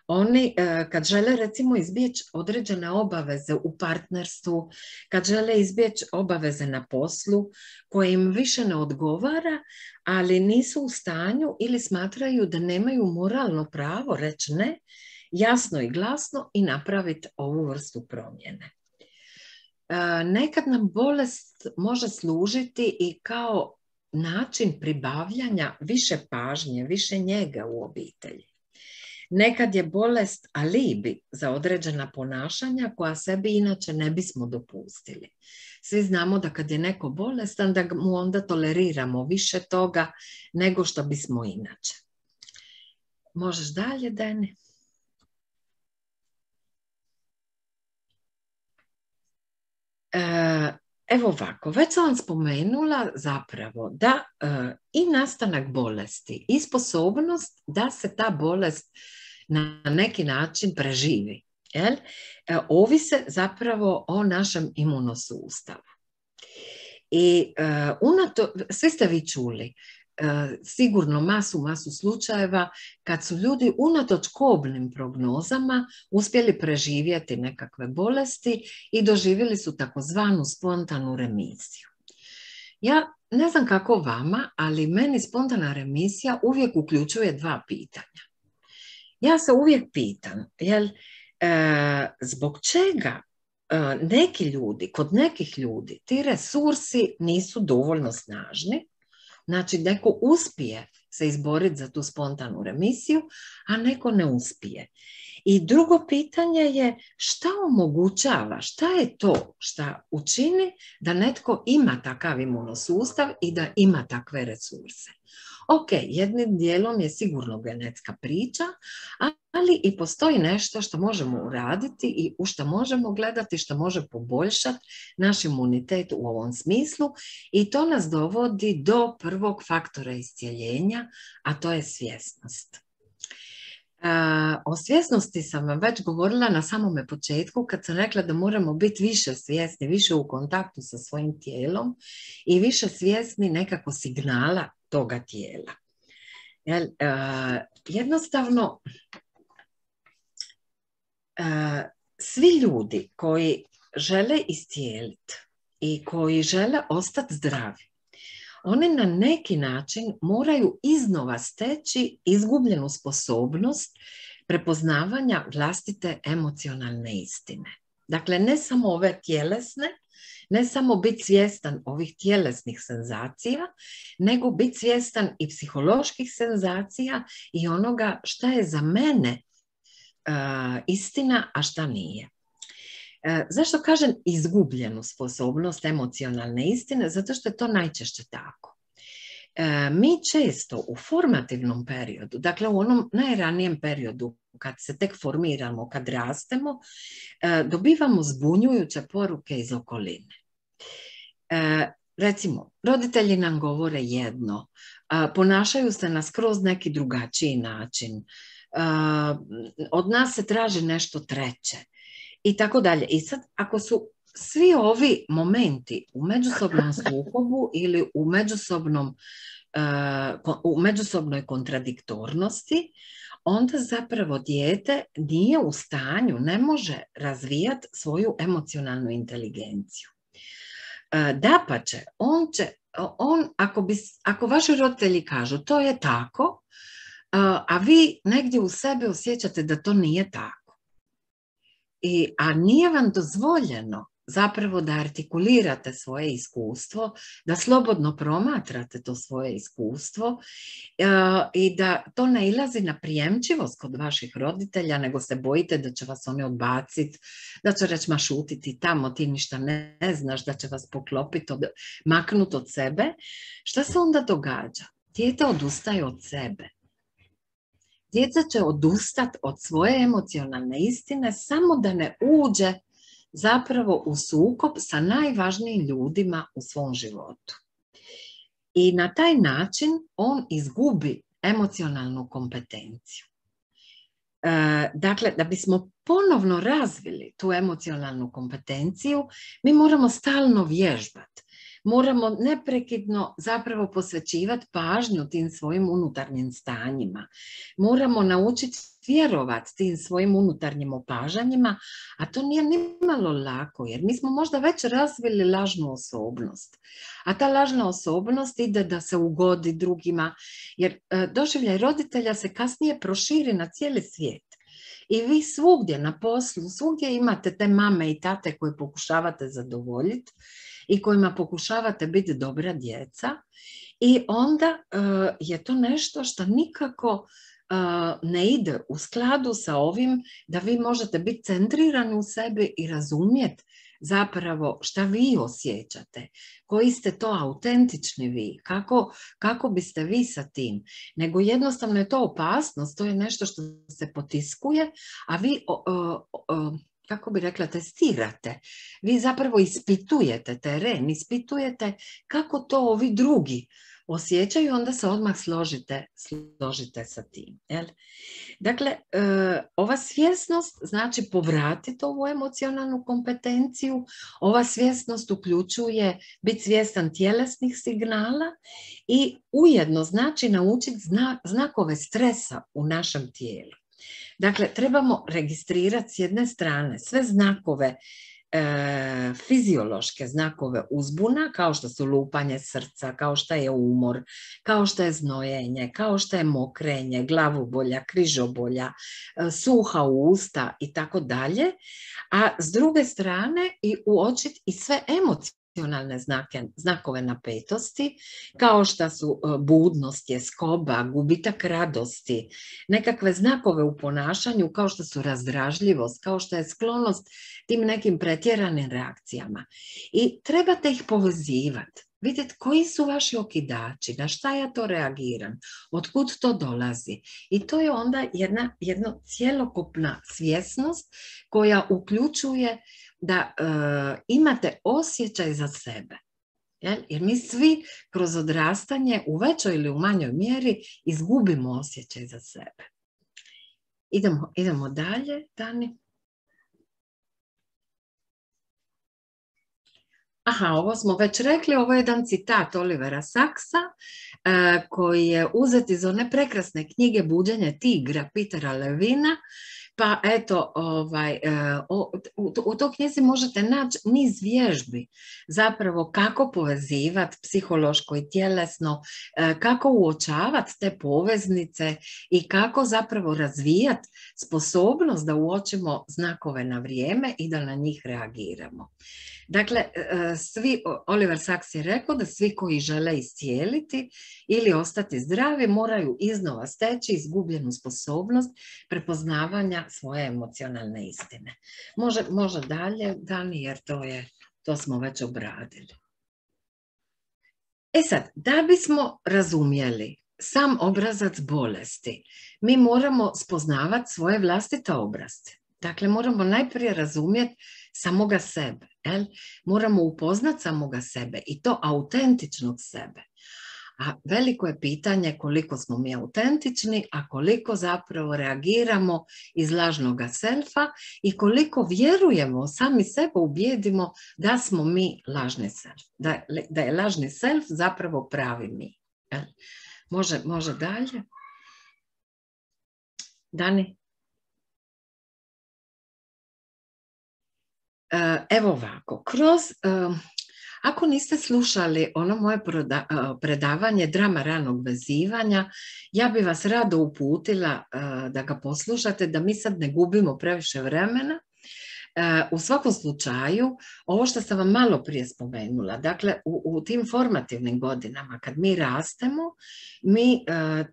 Oni e, kad žele recimo izbjeći određene obaveze u partnerstvu, kad žele izbjeći obaveze na poslu koje im više ne odgovara, ali nisu u stanju ili smatraju da nemaju moralno pravo reći ne, jasno i glasno i napraviti ovu vrstu promjene. Nekad nam bolest može služiti i kao način pribavljanja više pažnje, više njega u obitelji. Nekad je bolest alibi za određena ponašanja koja sebi inače ne bismo dopustili. Svi znamo da kad je neko bolestan, da mu onda toleriramo više toga nego što bismo inače. Možeš dalje, Deni? Evo ovako, već sam vam spomenula zapravo da e, i nastanak bolesti i sposobnost da se ta bolest na neki način preživi, jel? E, ovise zapravo o našem imunosustavu. I e, unato, svi ste vi čuli, sigurno masu, masu slučajeva kad su ljudi unatoč kobnim prognozama uspjeli preživjeti nekakve bolesti i doživjeli su takozvanu spontanu remisiju. Ja ne znam kako vama, ali meni spontana remisija uvijek uključuje dva pitanja. Ja se uvijek pitam, jel, e, zbog čega e, neki ljudi, kod nekih ljudi ti resursi nisu dovoljno snažni. Znači, neko uspije se izboriti za tu spontanu remisiju, a neko ne uspije. I drugo pitanje je šta omogućava, šta je to šta učini da netko ima takav imunosustav i da ima takve resurse. Ok, jednim dijelom je sigurno genetska priča, ali i postoji nešto što možemo uraditi i u što možemo gledati, što može poboljšati naš imunitet u ovom smislu i to nas dovodi do prvog faktora iscijeljenja, a to je svjesnost. O svjesnosti sam vam već govorila na samome početku kad sam rekla da moramo biti više svjesni, više u kontaktu sa svojim tijelom i više svjesni nekako signala toga tijela. Jel, uh, jednostavno, uh, svi ljudi koji žele iscijeliti i koji žele ostati zdravi, oni na neki način moraju iznova steći izgubljenu sposobnost prepoznavanja vlastite emocionalne istine. Dakle, ne samo ove tjelesne, ne samo biti svjestan ovih tjelesnih senzacija, nego biti svjestan i psiholoških senzacija i onoga šta je za mene uh, istina, a šta nije. Uh, zašto kažem izgubljenu sposobnost emocionalne istine? Zato što je to najčešće tako. Uh, mi često u formativnom periodu, dakle u onom najranijem periodu kad se tek formiramo, kad rastemo, uh, dobivamo zbunjujuće poruke iz okoline. Uh, recimo, roditelji nam govore jedno, uh, ponašaju se na skroz neki drugačiji način, uh, od nas se traži nešto treće i tako dalje. I sad, ako su svi ovi momenti u međusobnom sukobu ili u međusobnom, uh, u međusobnoj kontradiktornosti, onda zapravo dijete nije u stanju, ne može razvijati svoju emocionalnu inteligenciju. Dapače, on će, on, ako, bi, ako vaši roditelji kažu to je tako, a vi negdje u sebi osjećate da to nije tako. I, a nije vam dozvoljeno zapravo da artikulirate svoje iskustvo, da slobodno promatrate to svoje iskustvo e, i da to ne ilazi na prijemčivost kod vaših roditelja, nego se bojite da će vas oni odbaciti, da će reći ma šutiti tamo, ti ništa ne, ne znaš, da će vas poklopiti, od, maknuti od sebe. Šta se onda događa? Dijete odustaje od sebe. Djeca će odustati od svoje emocionalne istine samo da ne uđe zapravo u sukob sa najvažnijim ljudima u svom životu. I na taj način on izgubi emocionalnu kompetenciju. E, dakle, da bismo ponovno razvili tu emocionalnu kompetenciju, mi moramo stalno vježbati. Moramo neprekidno zapravo posvećivati pažnju tim svojim unutarnjim stanjima. Moramo naučiti vjerovati tim svojim unutarnjim opažanjima, a to nije nimalo lako, jer mi smo možda već razvili lažnu osobnost. A ta lažna osobnost ide da se ugodi drugima, jer e, doživljaj roditelja se kasnije proširi na cijeli svijet. I vi svugdje na poslu, svugdje imate te mame i tate koje pokušavate zadovoljiti i kojima pokušavate biti dobra djeca i onda uh, je to nešto što nikako uh, ne ide u skladu sa ovim da vi možete biti centrirani u sebi i razumjeti zapravo šta vi osjećate, koji ste to autentični vi, kako, kako biste vi sa tim, nego jednostavno je to opasnost, to je nešto što se potiskuje, a vi o, o, o, kako bi rekla, testirate. Vi zapravo ispitujete teren, ispitujete kako to ovi drugi osjećaju, onda se odmah složite, složite sa tim. Jel? Dakle, e, ova svjesnost znači povratiti ovu emocionalnu kompetenciju. Ova svjesnost uključuje biti svjestan tjelesnih signala i ujedno znači naučiti zna, znakove stresa u našem tijelu. Dakle, trebamo registrirati s jedne strane sve znakove, e, fiziološke znakove uzbuna, kao što su lupanje srca, kao što je umor, kao što je znojenje, kao što je mokrenje, glavobolja, križobolja, e, suha usta i tako dalje. A s druge strane i uočiti i sve emocije, emocionalne znake, znakove napetosti, kao što su budnost, tjeskoba, gubitak radosti, nekakve znakove u ponašanju kao što su razdražljivost, kao što je sklonost tim nekim pretjeranim reakcijama. I trebate ih povezivati. Vidjeti koji su vaši okidači, na šta ja to reagiram, otkud to dolazi. I to je onda jedna, jedna cjelokupna svjesnost koja uključuje da e, imate osjećaj za sebe. Jel? Jer mi svi kroz odrastanje u većoj ili u manjoj mjeri izgubimo osjećaj za sebe. Idemo, idemo dalje, Dani. Aha, ovo smo već rekli, ovo je jedan citat Olivera Sacksa e, koji je uzet iz one prekrasne knjige Buđenje tigra Petera Levina. Pa eto, ovaj, o, u, u toj knjizi možete naći niz vježbi zapravo kako povezivati psihološko i tjelesno, kako uočavati te poveznice i kako zapravo razvijati sposobnost da uočimo znakove na vrijeme i da na njih reagiramo. Dakle, svi, Oliver Sacks je rekao da svi koji žele iscijeliti ili ostati zdravi moraju iznova steći izgubljenu sposobnost prepoznavanja svoje emocionalne istine. Može, može dalje, Dani, jer to, je, to smo već obradili. E sad, da bismo razumjeli sam obrazac bolesti, mi moramo spoznavati svoje vlastite obrazce. Dakle, moramo najprije razumjeti samoga sebe. Jel? Moramo upoznati samoga sebe i to autentičnog sebe. A veliko je pitanje koliko smo mi autentični, a koliko zapravo reagiramo iz lažnoga selfa i koliko vjerujemo, sami sebe ubijedimo da smo mi lažni self. Da, da je lažni self zapravo pravi mi. Jel? Može, može dalje. Dani? Evo ovako, kroz, ako niste slušali ono moje predavanje Drama ranog vezivanja, ja bi vas rado uputila da ga poslušate, da mi sad ne gubimo previše vremena. U svakom slučaju, ovo što sam vam malo prije spomenula, dakle u, u tim formativnim godinama kad mi rastemo, mi uh, uh,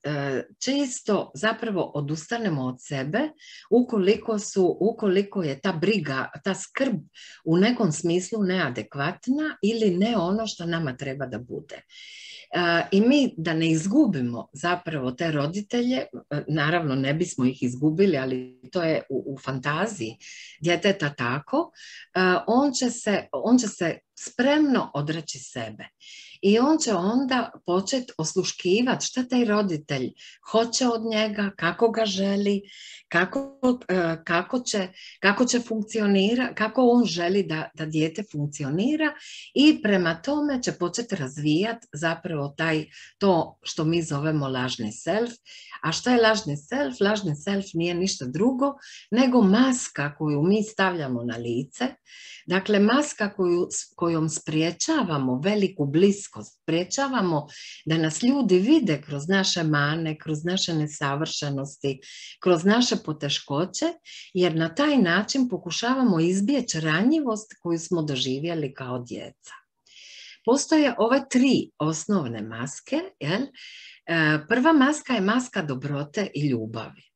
često zapravo odustanemo od sebe ukoliko, su, ukoliko je ta briga, ta skrb u nekom smislu neadekvatna ili ne ono što nama treba da bude. Uh, I mi da ne izgubimo zapravo te roditelje, naravno ne bismo ih izgubili, ali to je u, u fantaziji djeteta tako, uh, on će se, on će se spremno odreći sebe. I on će onda početi osluškivati šta taj roditelj hoće od njega, kako ga želi, kako, kako, će, kako će funkcionira, kako on želi da, da dijete funkcionira i prema tome će početi razvijati zapravo taj, to što mi zovemo lažni self. A šta je lažni self? Lažni self nije ništa drugo nego maska koju mi stavljamo na lice. Dakle, maska koju, kojom spriječavamo veliku bliskost, spriječavamo da nas ljudi vide kroz naše mane, kroz naše nesavršenosti, kroz naše poteškoće, jer na taj način pokušavamo izbjeći ranjivost koju smo doživjeli kao djeca. Postoje ove tri osnovne maske. Jel? Prva maska je maska dobrote i ljubavi.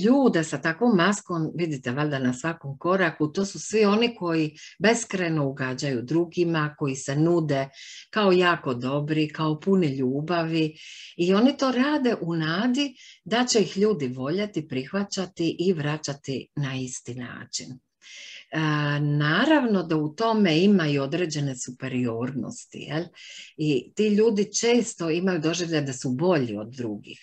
Ljude sa takvom maskom vidite valjda na svakom koraku, to su svi oni koji beskrajno ugađaju drugima, koji se nude kao jako dobri, kao puni ljubavi i oni to rade u nadi da će ih ljudi voljeti, prihvaćati i vraćati na isti način. E, naravno da u tome ima i određene superiornosti, jel? I ti ljudi često imaju doživljaj da su bolji od drugih.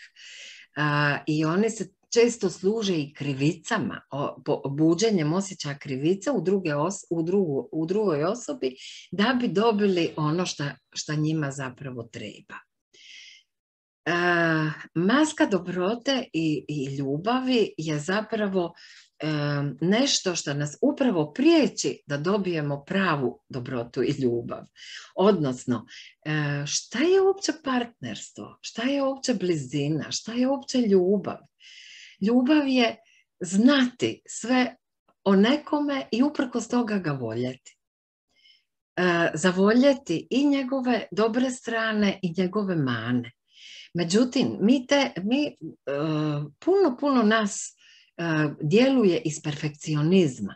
Uh, i oni se često služe i krivicama, o, po, buđenjem osjećaja krivice u, druge os, u, drugu, u drugoj osobi da bi dobili ono što njima zapravo treba. Uh, maska dobrote i, i ljubavi je zapravo um, nešto što nas upravo priječi da dobijemo pravu dobrotu i ljubav. Odnosno, uh, šta je uopće partnerstvo? Šta je uopće blizina? Šta je uopće ljubav? Ljubav je znati sve o nekome i uprkos toga ga voljeti. Uh, zavoljeti i njegove dobre strane i njegove mane. Međutim, mi, te, mi uh, puno, puno nas uh, djeluje iz perfekcionizma.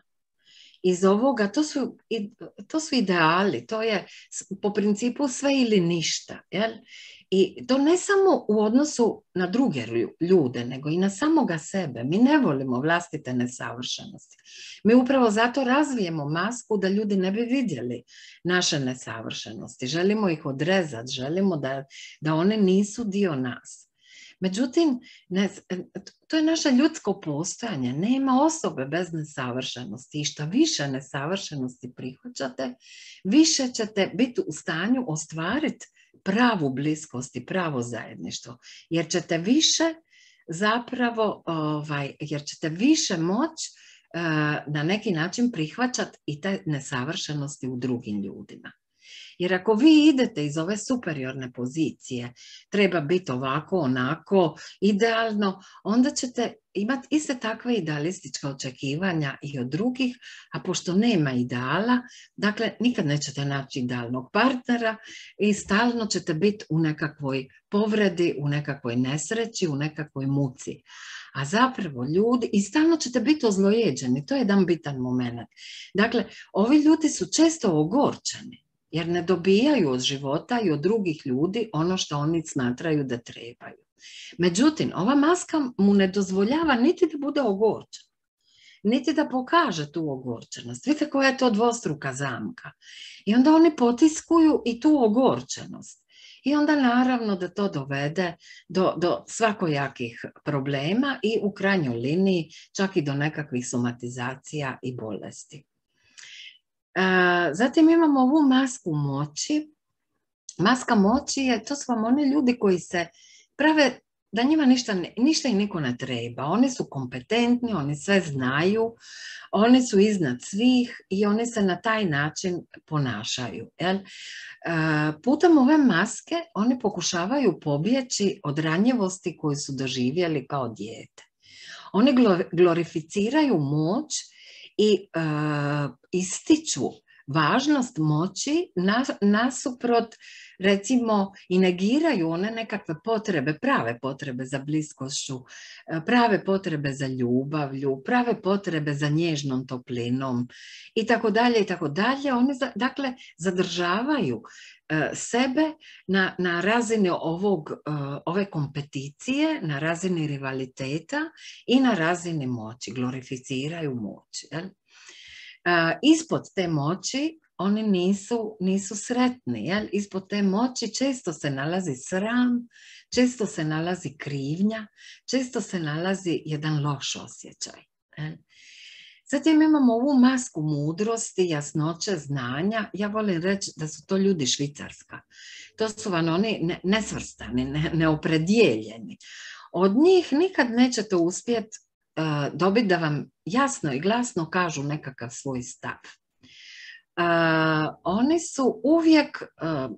Iz ovoga, to su, to su ideali, to je po principu sve ili ništa. Jel? I to ne samo u odnosu na druge ljude, nego i na samoga sebe. Mi ne volimo vlastite nesavršenosti. Mi upravo zato razvijemo masku da ljudi ne bi vidjeli naše nesavršenosti. Želimo ih odrezati, želimo da, da one nisu dio nas. Međutim, ne, to je naše ljudsko postojanje. Nema osobe bez nesavršenosti i što više nesavršenosti prihvaćate, više ćete biti u stanju ostvariti pravu bliskost i pravo zajedništvo. Jer ćete više zapravo, ovaj, jer ćete više moći uh, na neki način prihvaćati i te nesavršenosti u drugim ljudima. Jer ako vi idete iz ove superiorne pozicije, treba biti ovako, onako, idealno, onda ćete imati iste takve idealistička očekivanja i od drugih, a pošto nema ideala, dakle, nikad nećete naći idealnog partnera i stalno ćete biti u nekakvoj povredi, u nekakvoj nesreći, u nekakvoj muci. A zapravo ljudi, i stalno ćete biti ozlojeđeni, to je jedan bitan moment. Dakle, ovi ljudi su često ogorčeni, jer ne dobijaju od života i od drugih ljudi ono što oni smatraju da trebaju. Međutim, ova maska mu ne dozvoljava niti da bude ogorčen, niti da pokaže tu ogorčenost. Vidite koja je to dvostruka zamka. I onda oni potiskuju i tu ogorčenost. I onda naravno da to dovede do, do svakojakih problema i u krajnjoj liniji čak i do nekakvih somatizacija i bolesti. Zatim imamo ovu masku moći. Maska moći je, to su vam oni ljudi koji se prave da njima ništa, ništa i niko ne treba. Oni su kompetentni, oni sve znaju, oni su iznad svih i oni se na taj način ponašaju. Jel? Putem ove maske oni pokušavaju pobjeći od ranjivosti koju su doživjeli kao dijete. Oni glorificiraju moć i uh, ističu važnost moći nasuprot, recimo, i negiraju one nekakve potrebe, prave potrebe za bliskošću, prave potrebe za ljubavlju, prave potrebe za nježnom toplinom i tako dalje i tako dalje. Oni, dakle, zadržavaju sebe na, na razini ovog, ove kompeticije, na razini rivaliteta i na razini moći, glorificiraju moć. Jel? Ispod te moći oni nisu, nisu sretni. Jel? Ispod te moći često se nalazi sram, često se nalazi krivnja, često se nalazi jedan loš osjećaj. Jel? Zatim imamo ovu masku mudrosti, jasnoće, znanja. Ja volim reći da su to ljudi Švicarska. To su vam oni nesvrstani, ne, neopredijeljeni. Od njih nikad nećete uspjeti uh, dobiti da vam jasno i glasno kažu nekakav svoj stav. Uh, oni su uvijek, uh,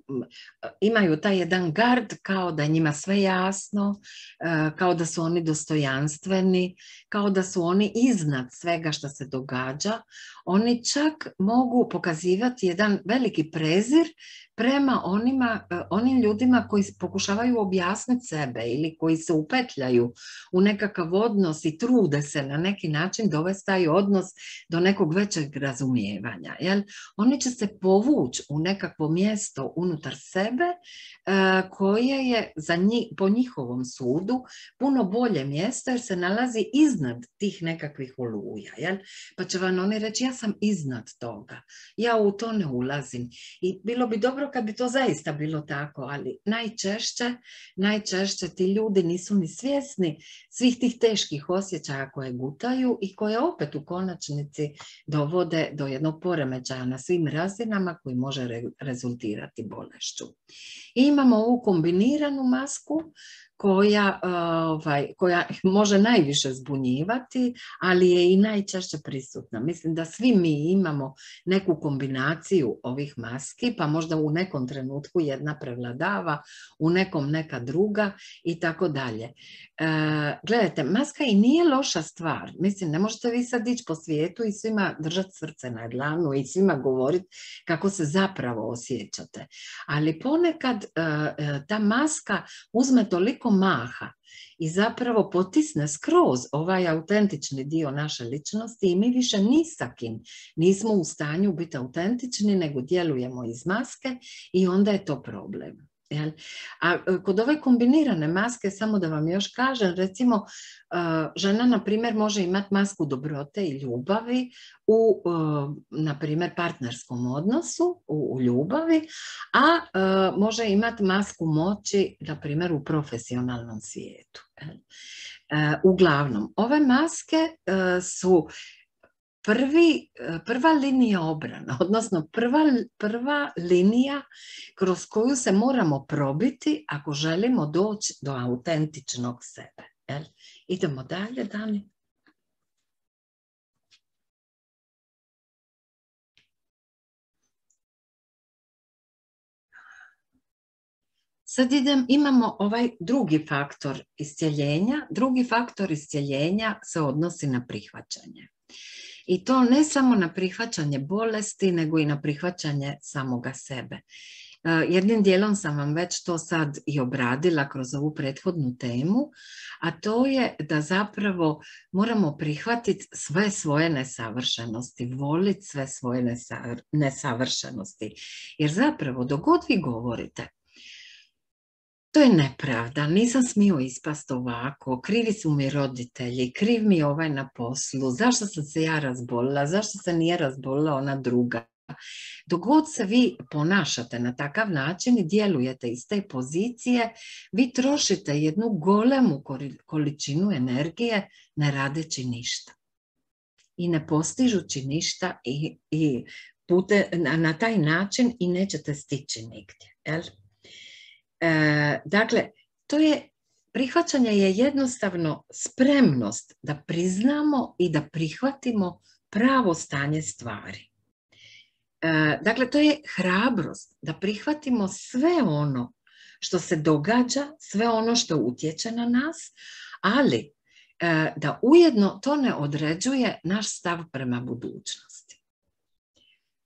imaju taj jedan gard kao da je njima sve jasno, uh, kao da su oni dostojanstveni, kao da su oni iznad svega što se događa. Oni čak mogu pokazivati jedan veliki prezir prema onima, uh, onim ljudima koji pokušavaju objasniti sebe ili koji se upetljaju u nekakav odnos i trude se na neki način dovesti taj odnos do nekog većeg razumijevanja. Jel? Oni će se povući u nekakvo mjesto unutar sebe uh, koje je za njih, po njihovom sudu puno bolje mjesto jer se nalazi iznad tih nekakvih oluja. Jel? Pa će vam oni reći ja sam iznad toga, ja u to ne ulazim. I bilo bi dobro kad bi to zaista bilo tako, ali najčešće, najčešće ti ljudi nisu ni svjesni svih tih teških osjećaja koje gutaju i koje opet u konačnici dovode do jednog poremećaja na svim razinama koji može re, rezultirati bolešću. I imamo ovu kombiniranu masku koja, ovaj, koja može najviše zbunjivati, ali je i najčešće prisutna. Mislim da svi mi imamo neku kombinaciju ovih maski, pa možda u nekom trenutku jedna prevladava, u nekom neka druga i tako dalje. Gledajte, maska i nije loša stvar. Mislim, ne možete vi sad ići po svijetu i svima držati srce na dlanu i svima govoriti kako se zapravo osjećate. Ali ponekad ta maska uzme toliko maha i zapravo potisne skroz ovaj autentični dio naše ličnosti i mi više ni sa kim nismo u stanju biti autentični, nego djelujemo iz maske i onda je to problem. Jel? A kod ove kombinirane maske, samo da vam još kažem, recimo žena na primjer može imati masku dobrote i ljubavi u na primjer partnerskom odnosu, u, u ljubavi, a može imati masku moći na primjer u profesionalnom svijetu. Jel? Uglavnom, ove maske su Prvi, prva linija obrana, odnosno prva, prva linija kroz koju se moramo probiti ako želimo doći do autentičnog sebe. Jel? Idemo dalje, Dani. Sad idem, imamo ovaj drugi faktor iscjeljenja. Drugi faktor iscjeljenja se odnosi na prihvaćanje. I to ne samo na prihvaćanje bolesti, nego i na prihvaćanje samoga sebe. Jednim dijelom sam vam već to sad i obradila kroz ovu prethodnu temu, a to je da zapravo moramo prihvatiti sve svoje nesavršenosti, voliti sve svoje nesavršenosti. Jer zapravo dok god vi govorite, to je nepravda, nisam smio ispast ovako, krivi su mi roditelji, kriv mi je ovaj na poslu, zašto sam se ja razbolila, zašto se nije razbolila ona druga. Dok god se vi ponašate na takav način i djelujete iz te pozicije, vi trošite jednu golemu količinu energije ne radeći ništa. I ne postižući ništa i, i pute, na, na taj način i nećete stići nigdje. Jel? E, dakle, to je prihvaćanje je jednostavno spremnost da priznamo i da prihvatimo pravo stanje stvari. E, dakle, to je hrabrost da prihvatimo sve ono što se događa, sve ono što utječe na nas, ali e, da ujedno to ne određuje naš stav prema budućnosti.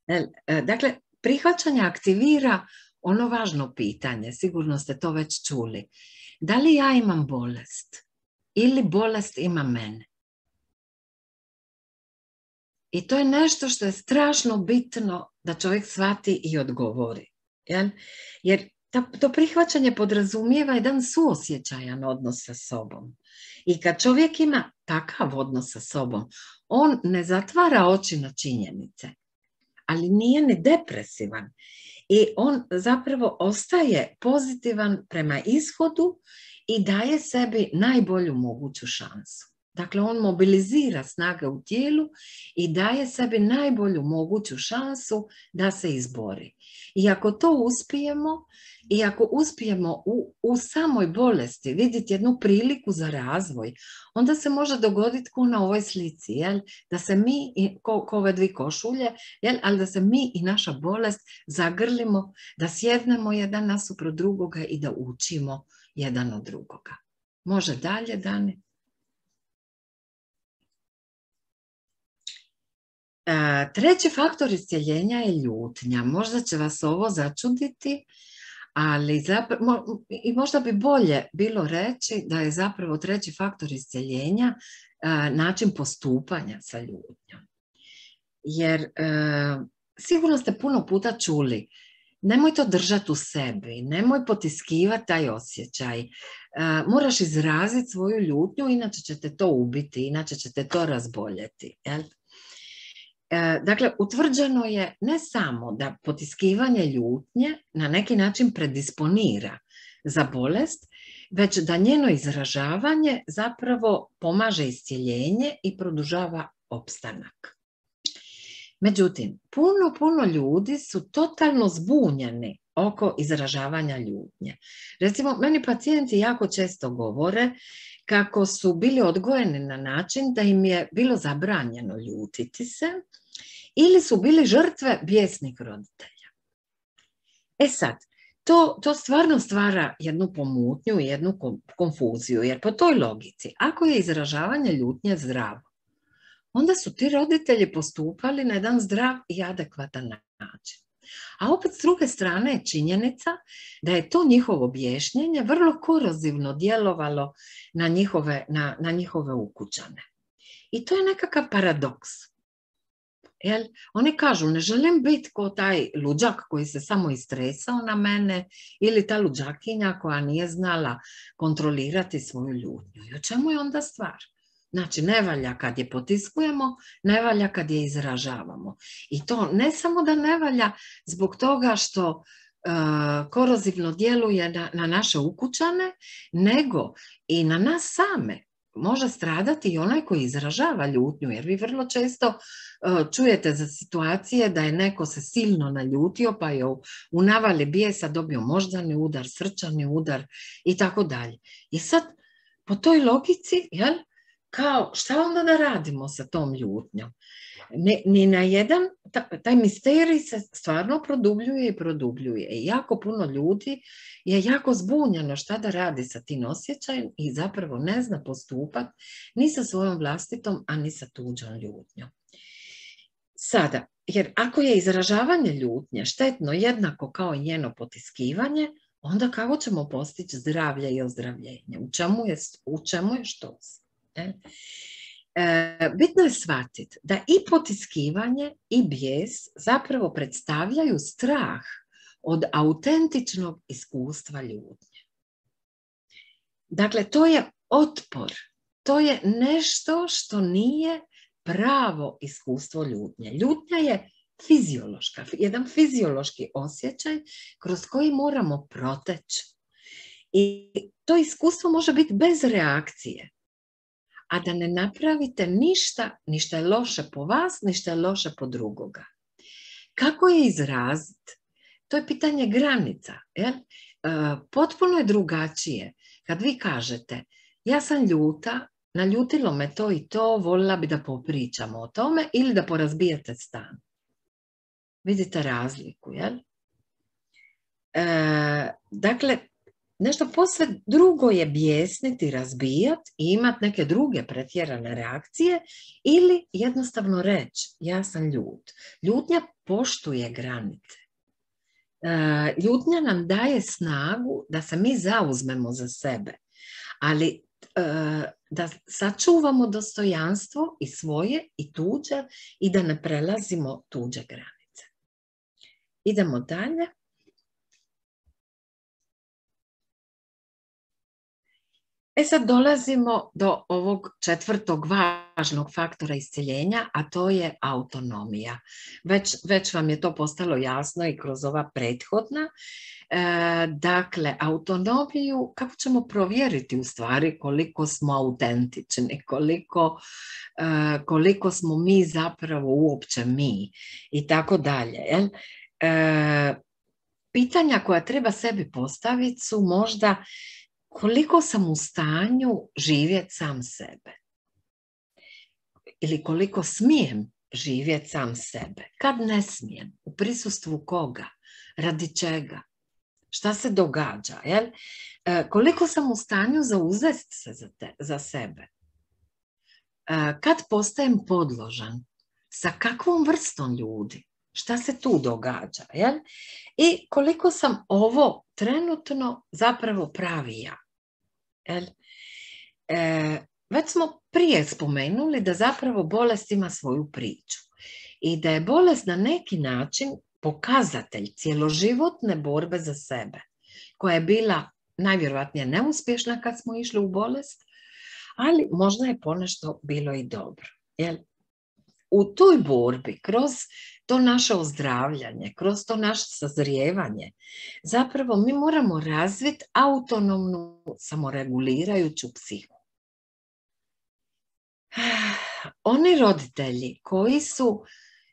E, e, dakle, prihvaćanje aktivira ono važno pitanje, sigurno ste to već čuli. Da li ja imam bolest ili bolest ima mene? I to je nešto što je strašno bitno da čovjek shvati i odgovori. Jel? Jer to prihvaćanje podrazumijeva jedan suosjećajan odnos sa sobom. I kad čovjek ima takav odnos sa sobom, on ne zatvara oči na činjenice, ali nije ni depresivan. I on zapravo ostaje pozitivan prema ishodu i daje sebi najbolju moguću šansu. Dakle, on mobilizira snage u tijelu i daje sebi najbolju moguću šansu da se izbori. I ako to uspijemo, i ako uspijemo u, u samoj bolesti vidjeti jednu priliku za razvoj, onda se može dogoditi ko na ovoj slici, jel? Da se mi, ko, ko ove dvije košulje, jel? Ali da se mi i naša bolest zagrlimo, da sjednemo jedan nasuprot drugoga i da učimo jedan od drugoga. Može dalje, Dani? Treći faktor iscjeljenja je ljutnja. Možda će vas ovo začuditi, ali zapravo, i možda bi bolje bilo reći da je zapravo treći faktor iscjeljenja način postupanja sa ljutnjom. Jer sigurno ste puno puta čuli, nemoj to držati u sebi, nemoj potiskivati taj osjećaj, moraš izraziti svoju ljutnju, inače ćete to ubiti, inače ćete to razboljeti, jel? Dakle, utvrđeno je ne samo da potiskivanje ljutnje na neki način predisponira za bolest, već da njeno izražavanje zapravo pomaže iscjeljenje i produžava opstanak. Međutim, puno, puno ljudi su totalno zbunjeni oko izražavanja ljutnje. Recimo, meni pacijenti jako često govore kako su bili odgojeni na način da im je bilo zabranjeno ljutiti se ili su bili žrtve bijesnih roditelja. E sad, to, to stvarno stvara jednu pomutnju i jednu konfuziju, jer po toj logici, ako je izražavanje ljutnje zdravo, onda su ti roditelji postupali na jedan zdrav i adekvatan način. A opet s druge strane je činjenica da je to njihovo objašnjenje vrlo korozivno djelovalo na njihove, na, na njihove ukućane. I to je nekakav paradoks. Jel? Oni kažu, ne želim biti kao taj luđak koji se samo istresao na mene ili ta luđakinja koja nije znala kontrolirati svoju ljutnju. I o čemu je onda stvar? Znači, ne valja kad je potiskujemo, ne valja kad je izražavamo. I to ne samo da ne valja zbog toga što uh, korozivno djeluje na, na naše ukućane, nego i na nas same. Može stradati i onaj koji izražava ljutnju, jer vi vrlo često uh, čujete za situacije da je neko se silno naljutio, pa je u, u navali bijesa dobio moždani udar, srčani udar i tako dalje. I sad, po toj logici, jel, kao, šta onda da radimo sa tom ljutnjom? Ni, ni na jedan, taj misterij se stvarno produbljuje i produbljuje. I jako puno ljudi je jako zbunjeno šta da radi sa tim osjećajem i zapravo ne zna postupati ni sa svojom vlastitom, a ni sa tuđom ljutnjom. Sada, jer ako je izražavanje ljutnje štetno jednako kao i njeno potiskivanje, onda kako ćemo postići zdravlje i ozdravljenje? U čemu je, u čemu je štos? E? E, bitno je shvatiti da i potiskivanje i bijes zapravo predstavljaju strah od autentičnog iskustva ljutnje. Dakle, to je otpor, to je nešto što nije pravo iskustvo ljutnje. Ljutnja je fiziološka, jedan fiziološki osjećaj kroz koji moramo proteći. I to iskustvo može biti bez reakcije, a da ne napravite ništa, ništa je loše po vas, ništa je loše po drugoga. Kako je izraziti? To je pitanje granica. Jel? E, potpuno je drugačije Kad vi kažete, ja sam ljuta, naljutilo me to i to, voljela bi da popričamo o tome ili da porazbijete stan. Vidite razliku, jel? E, dakle, nešto posve drugo je bijesniti, razbijati i imati neke druge pretjerane reakcije ili jednostavno reći, ja sam ljut. Ljutnja poštuje granice. E, ljutnja nam daje snagu da se mi zauzmemo za sebe, ali e, da sačuvamo dostojanstvo i svoje i tuđe i da ne prelazimo tuđe granice. Idemo dalje. E sad dolazimo do ovog četvrtog važnog faktora iscjeljenja, a to je autonomija. Već, već vam je to postalo jasno i kroz ova prethodna. E, dakle, autonomiju, kako ćemo provjeriti u stvari koliko smo autentični, koliko, e, koliko smo mi zapravo uopće mi i tako dalje. Jel? E, pitanja koja treba sebi postaviti su možda koliko sam u stanju živjeti sam sebe ili koliko smijem živjeti sam sebe, kad ne smijem, u prisustvu koga, radi čega, šta se događa, jel? E, koliko sam u stanju zauzeti se za, te, za sebe, e, kad postajem podložan, sa kakvom vrstom ljudi, šta se tu događa, jel? I koliko sam ovo trenutno zapravo pravi ja. Jel? E, već smo prije spomenuli da zapravo bolest ima svoju priču i da je bolest na neki način pokazatelj cjeloživotne borbe za sebe, koja je bila najvjerojatnije neuspješna kad smo išli u bolest, ali možda je ponešto bilo i dobro. Jel? U toj borbi, kroz to naše ozdravljanje, kroz to naše sazrijevanje, zapravo mi moramo razviti autonomnu, samoregulirajuću psihu. Oni roditelji koji su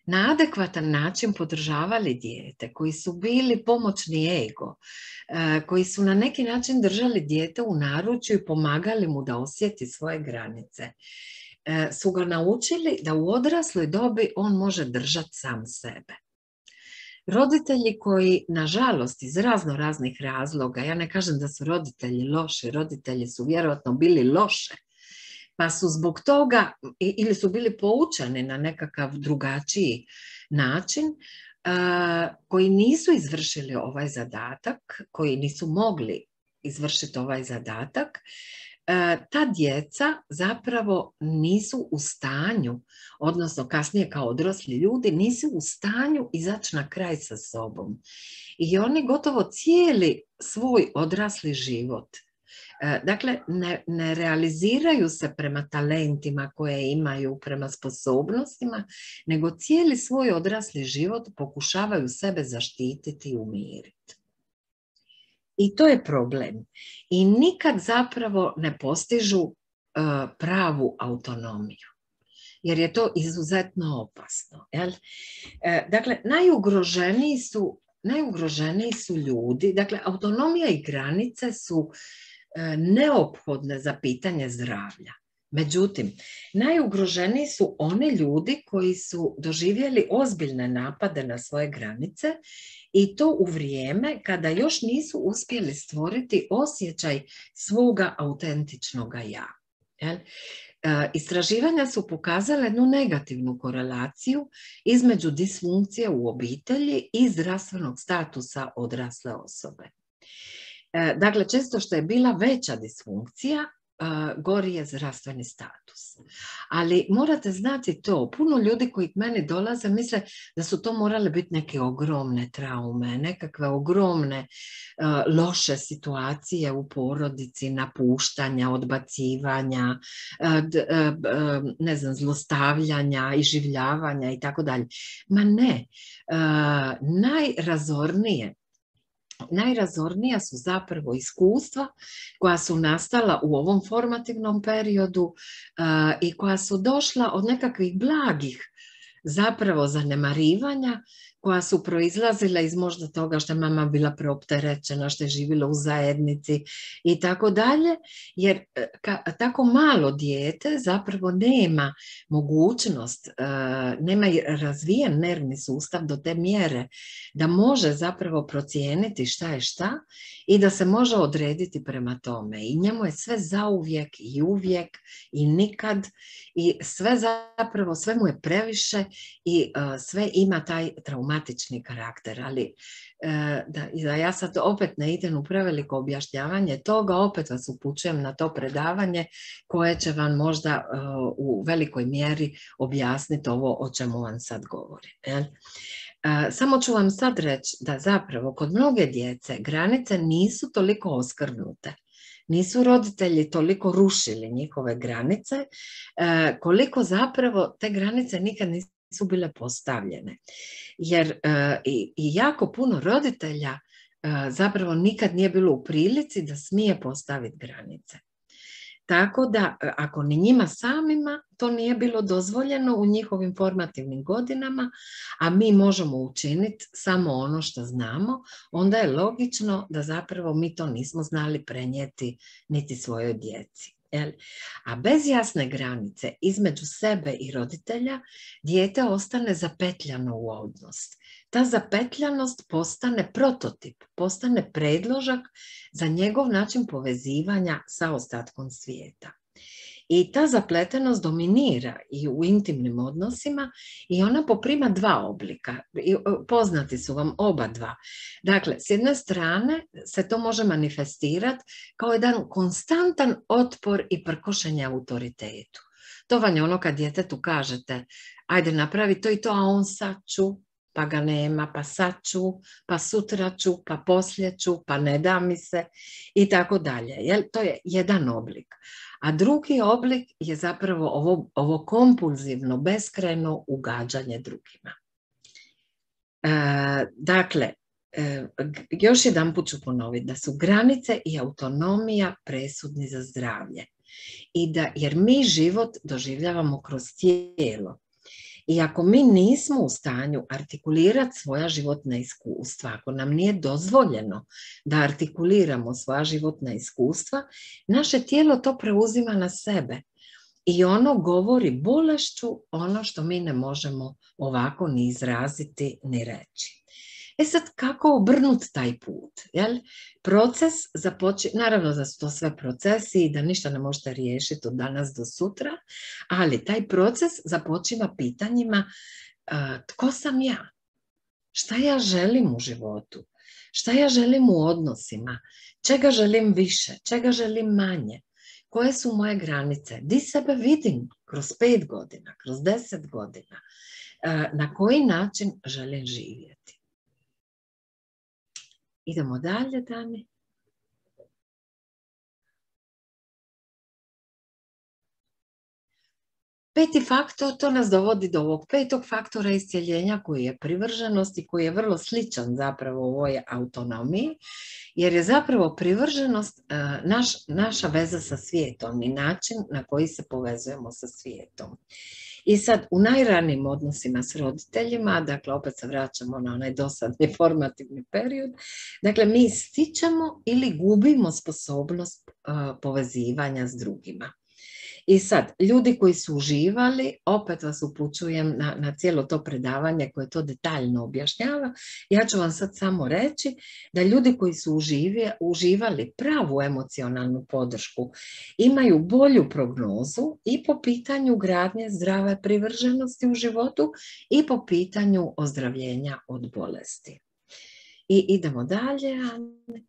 na adekvatan način podržavali dijete, koji su bili pomoćni ego, koji su na neki način držali dijete u naručju i pomagali mu da osjeti svoje granice, su ga naučili da u odrasloj dobi on može držati sam sebe. Roditelji koji, nažalost, iz razno raznih razloga, ja ne kažem da su roditelji loši, roditelji su vjerojatno bili loše, pa su zbog toga ili su bili poučeni na nekakav drugačiji način, koji nisu izvršili ovaj zadatak, koji nisu mogli izvršiti ovaj zadatak, ta djeca zapravo nisu u stanju, odnosno kasnije kao odrasli ljudi, nisu u stanju izaći na kraj sa sobom. I oni gotovo cijeli svoj odrasli život, dakle, ne, ne realiziraju se prema talentima koje imaju, prema sposobnostima, nego cijeli svoj odrasli život pokušavaju sebe zaštititi i umiriti. I to je problem. I nikad zapravo ne postižu uh, pravu autonomiju, jer je to izuzetno opasno. Jel? E, dakle, najugroženiji su, najugroženiji su ljudi, dakle, autonomija i granice su uh, neophodne za pitanje zdravlja. Međutim, najugroženiji su oni ljudi koji su doživjeli ozbiljne napade na svoje granice i to u vrijeme kada još nisu uspjeli stvoriti osjećaj svoga autentičnog ja. Jel? E, istraživanja su pokazale jednu negativnu korelaciju između disfunkcije u obitelji i zdravstvenog statusa odrasle osobe. E, dakle, često što je bila veća disfunkcija, gori je zdravstveni status. Ali morate znati to, puno ljudi koji k meni dolaze misle da su to morale biti neke ogromne traume, nekakve ogromne uh, loše situacije u porodici, napuštanja, odbacivanja, uh, d, uh, ne znam, zlostavljanja, iživljavanja i tako dalje. Ma ne, uh, najrazornije Najrazornija su zapravo iskustva koja su nastala u ovom formativnom periodu uh, i koja su došla od nekakvih blagih zapravo zanemarivanja koja su proizlazila iz možda toga što je mama bila preopterećena, što je živjela u zajednici i tako dalje, jer ka, tako malo dijete zapravo nema mogućnost, nema razvijen nervni sustav do te mjere da može zapravo procijeniti šta je šta i da se može odrediti prema tome. I njemu je sve zauvijek i uvijek i nikad i sve zapravo, sve mu je previše i sve ima taj traumatični karakter, ali da, da ja sad opet ne idem u preveliko objašnjavanje toga, opet vas upućujem na to predavanje koje će vam možda uh, u velikoj mjeri objasniti ovo o čemu vam sad govorim. Jel? Uh, samo ću vam sad reći da zapravo kod mnoge djece granice nisu toliko oskrnute. Nisu roditelji toliko rušili njihove granice, uh, koliko zapravo te granice nikad nisu su bile postavljene. Jer uh, i, i jako puno roditelja uh, zapravo nikad nije bilo u prilici da smije postaviti granice. Tako da ako ni njima samima to nije bilo dozvoljeno u njihovim formativnim godinama, a mi možemo učiniti samo ono što znamo, onda je logično da zapravo mi to nismo znali prenijeti niti svojoj djeci. A bez jasne granice između sebe i roditelja dijete ostane zapetljano u odnos. Ta zapetljanost postane prototip, postane predložak za njegov način povezivanja sa ostatkom svijeta. I ta zapletenost dominira i u intimnim odnosima i ona poprima dva oblika. Poznati su vam oba dva. Dakle, s jedne strane se to može manifestirati kao jedan konstantan otpor i prkošenje autoritetu. To vam je ono kad djetetu kažete, ajde napravi to i to, a on sad ću, pa ga nema, pa sad ću, pa sutra ću, pa poslije ću, pa ne da mi se i tako dalje. To je jedan oblik. A drugi oblik je zapravo ovo, ovo kompulzivno, beskrajno ugađanje drugima. E, dakle, e, još jedan put ću ponoviti da su granice i autonomija presudni za zdravlje. I da, jer mi život doživljavamo kroz tijelo. I ako mi nismo u stanju artikulirati svoja životna iskustva, ako nam nije dozvoljeno da artikuliramo svoja životna iskustva, naše tijelo to preuzima na sebe. I ono govori bolešću ono što mi ne možemo ovako ni izraziti, ni reći. E sad, kako obrnuti taj put? Jel? Proces započi, naravno da su to sve procesi i da ništa ne možete riješiti od danas do sutra, ali taj proces započiva pitanjima uh, tko sam ja? Šta ja želim u životu? Šta ja želim u odnosima? Čega želim više? Čega želim manje? Koje su moje granice? Di sebe vidim kroz pet godina, kroz deset godina? Uh, na koji način želim živjeti? Idemo dalje, Dani. Peti faktor, to nas dovodi do ovog petog faktora iscjeljenja koji je privrženost i koji je vrlo sličan zapravo u ovoj autonomiji, jer je zapravo privrženost uh, naš, naša veza sa svijetom i način na koji se povezujemo sa svijetom. I sad u najranijim odnosima s roditeljima, dakle opet se vraćamo na onaj dosadni formativni period, dakle mi stičemo ili gubimo sposobnost uh, povezivanja s drugima. I sad, ljudi koji su uživali, opet vas upućujem na, na cijelo to predavanje koje to detaljno objašnjava, ja ću vam sad samo reći da ljudi koji su uživje, uživali pravu emocionalnu podršku imaju bolju prognozu i po pitanju gradnje zdrave privrženosti u životu i po pitanju ozdravljenja od bolesti. I idemo dalje, Ane.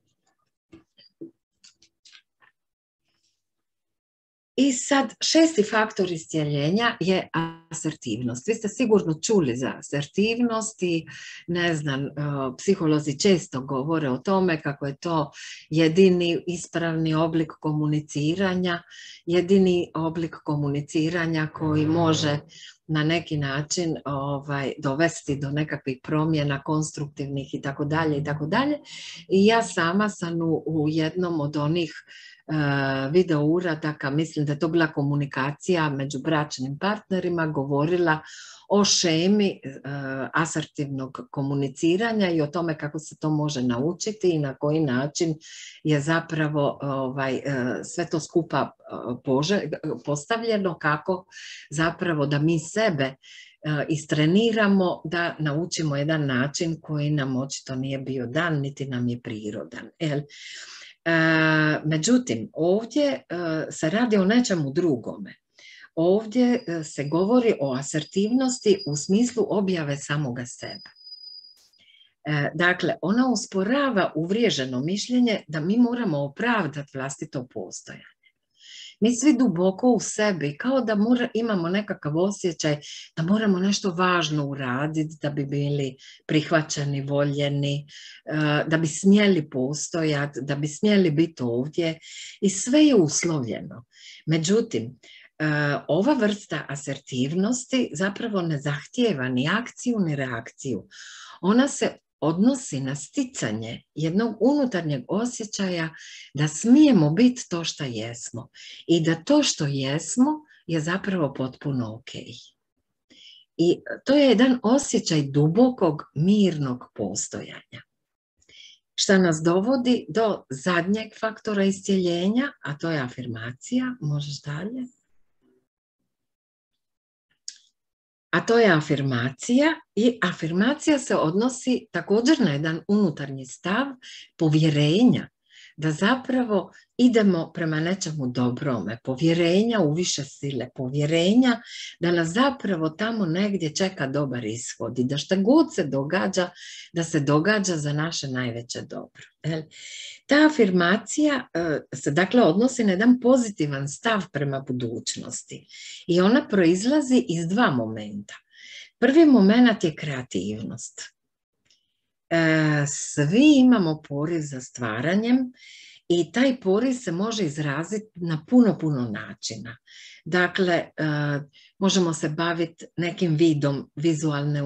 I sad šesti faktor iscijeljenja je asertivnost. Vi ste sigurno čuli za asertivnost i ne znam, psiholozi često govore o tome kako je to jedini ispravni oblik komuniciranja, jedini oblik komuniciranja koji može na neki način ovaj, dovesti do nekakvih promjena konstruktivnih i tako dalje i tako dalje. I ja sama sam u, u jednom od onih Uh, video uradaka, mislim da je to bila komunikacija među bračnim partnerima, govorila o šemi asertivnog komuniciranja i o tome kako se to može naučiti i na koji način je zapravo ovaj, sve to skupa postavljeno, kako zapravo da mi sebe istreniramo da naučimo jedan način koji nam očito nije bio dan, niti nam je prirodan. Međutim, ovdje se radi o nečemu drugome. Ovdje se govori o asertivnosti u smislu objave samoga sebe. Dakle, ona usporava uvriježeno mišljenje da mi moramo opravdati vlastito postojanje. Mi svi duboko u sebi, kao da mora, imamo nekakav osjećaj da moramo nešto važno uraditi, da bi bili prihvaćeni, voljeni, da bi smjeli postojati, da bi smjeli biti ovdje i sve je uslovljeno. Međutim, ova vrsta asertivnosti zapravo ne zahtijeva ni akciju ni reakciju. Ona se odnosi na sticanje jednog unutarnjeg osjećaja da smijemo biti to što jesmo i da to što jesmo je zapravo potpuno ok. I to je jedan osjećaj dubokog, mirnog postojanja. Šta nas dovodi do zadnjeg faktora iscjeljenja, a to je afirmacija. Možeš dalje? A to je afirmacija i afirmacija se odnosi također na jedan unutarnji stav povjerenja da zapravo idemo prema nečemu dobrome, povjerenja u više sile, povjerenja da nas zapravo tamo negdje čeka dobar ishod i da šta god se događa, da se događa za naše najveće dobro. Ta afirmacija se dakle odnosi na jedan pozitivan stav prema budućnosti i ona proizlazi iz dva momenta. Prvi moment je kreativnost. Svi imamo poriv za stvaranjem i taj poriv se može izraziti na puno, puno načina. Dakle, možemo se baviti nekim vidom vizualne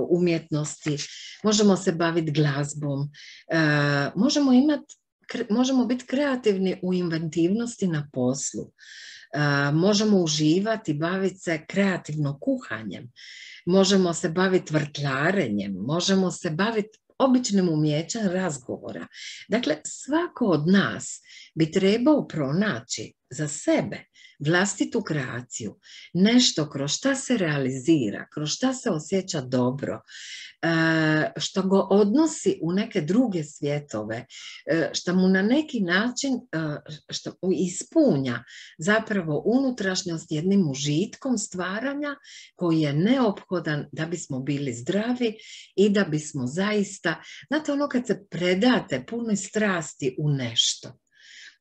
umjetnosti, možemo se baviti glazbom, možemo imati, možemo biti kreativni u inventivnosti na poslu. Možemo uživati, baviti se kreativno kuhanjem, možemo se baviti vrtlarenjem, možemo se baviti običnim umjećem razgovora. Dakle, svako od nas bi trebao pronaći za sebe vlastitu kreaciju, nešto kroz šta se realizira, kroz šta se osjeća dobro, što go odnosi u neke druge svjetove, što mu na neki način što ispunja zapravo unutrašnjost jednim užitkom stvaranja koji je neophodan da bismo bili zdravi i da bismo zaista, znate ono kad se predate punoj strasti u nešto,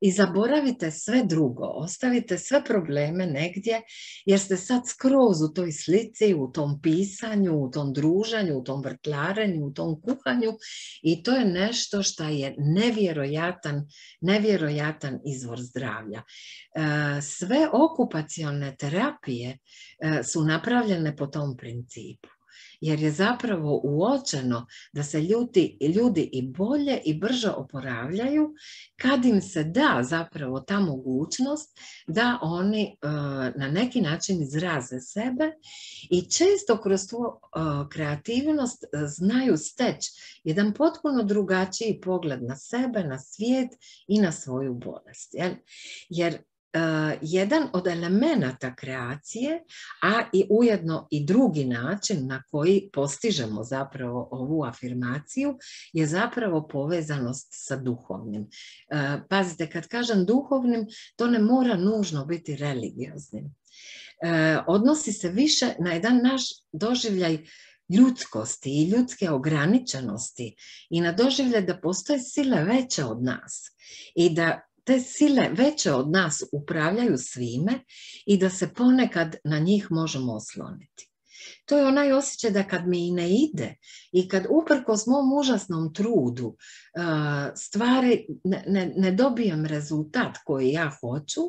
i zaboravite sve drugo, ostavite sve probleme negdje jer ste sad skroz u toj slici, u tom pisanju, u tom druženju, u tom vrtlarenju, u tom kuhanju i to je nešto što je nevjerojatan, nevjerojatan izvor zdravlja. Sve okupacione terapije su napravljene po tom principu. Jer je zapravo uočeno da se ljudi, ljudi i bolje i brže oporavljaju kad im se da zapravo ta mogućnost da oni uh, na neki način izraze sebe i često kroz tu uh, kreativnost uh, znaju steći jedan potpuno drugačiji pogled na sebe, na svijet i na svoju bolest. Jel? Jer Uh, jedan od elemenata kreacije, a i ujedno i drugi način na koji postižemo zapravo ovu afirmaciju je zapravo povezanost sa duhovnim. Uh, pazite, kad kažem duhovnim, to ne mora nužno biti religioznim. Uh, odnosi se više na jedan naš doživljaj ljudskosti i ljudske ograničenosti i na doživljaj da postoje sile veće od nas i da te sile veće od nas upravljaju svime i da se ponekad na njih možemo osloniti. To je onaj osjećaj da kad mi i ne ide i kad uprkos mom užasnom trudu stvari ne, ne, ne dobijem rezultat koji ja hoću,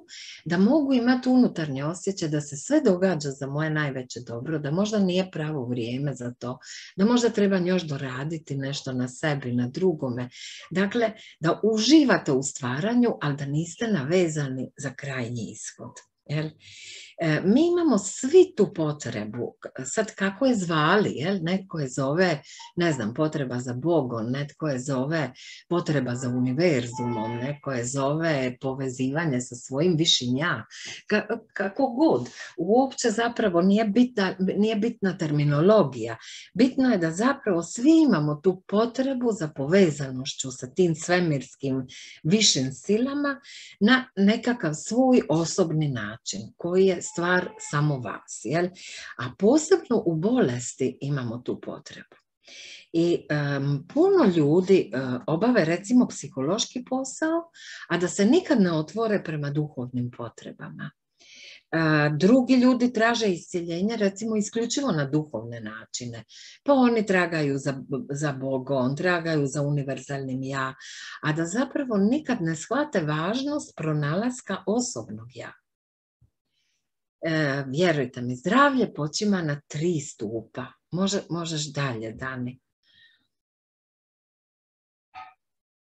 da mogu imati unutarnje osjećaj da se sve događa za moje najveće dobro, da možda nije pravo vrijeme za to, da možda treba još doraditi nešto na sebi, na drugome. Dakle, da uživate u stvaranju, ali da niste navezani za krajnji ishod. Jel? E, mi imamo svi tu potrebu, sad kako je zvali, jel? Netko je zove, ne znam, potreba za Bogom, netko je zove potreba za univerzumom, netko je zove povezivanje sa svojim višim ja, Ka, kako god. Uopće zapravo nije bitna, nije bitna terminologija, bitno je da zapravo svi imamo tu potrebu za povezanošću sa tim svemirskim višim silama na nekakav svoj osobni način koji je stvar samo vas. Jel? A posebno u bolesti imamo tu potrebu. I um, puno ljudi uh, obave recimo psihološki posao, a da se nikad ne otvore prema duhovnim potrebama. Uh, drugi ljudi traže iscjeljenje recimo isključivo na duhovne načine. Pa oni tragaju za, za Bogom, tragaju za univerzalnim ja, a da zapravo nikad ne shvate važnost pronalaska osobnog ja. E, vjerujte mi, zdravlje počima na tri stupa. Može, možeš dalje, Dani.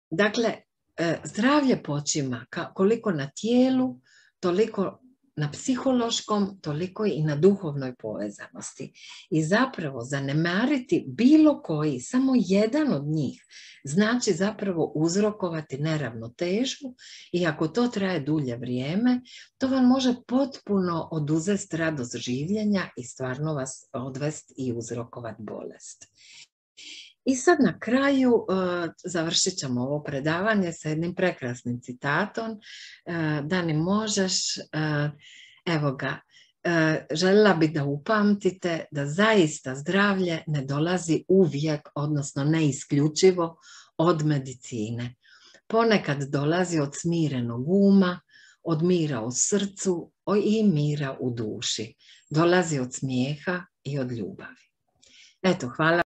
Dakle, e, zdravlje počima ka, koliko na tijelu, toliko na psihološkom, toliko i na duhovnoj povezanosti. I zapravo zanemariti bilo koji, samo jedan od njih, znači zapravo uzrokovati neravnotežu i ako to traje dulje vrijeme, to vam može potpuno oduzeti radost življenja i stvarno vas odvesti i uzrokovati bolest. I sad na kraju uh, završit ćemo ovo predavanje sa jednim prekrasnim citatom. Uh, Dani, možeš, uh, evo ga, uh, željela bih da upamtite da zaista zdravlje ne dolazi uvijek, odnosno ne isključivo od medicine. Ponekad dolazi od smirenog uma, od mira u srcu i mira u duši. Dolazi od smijeha i od ljubavi. Eto, hvala.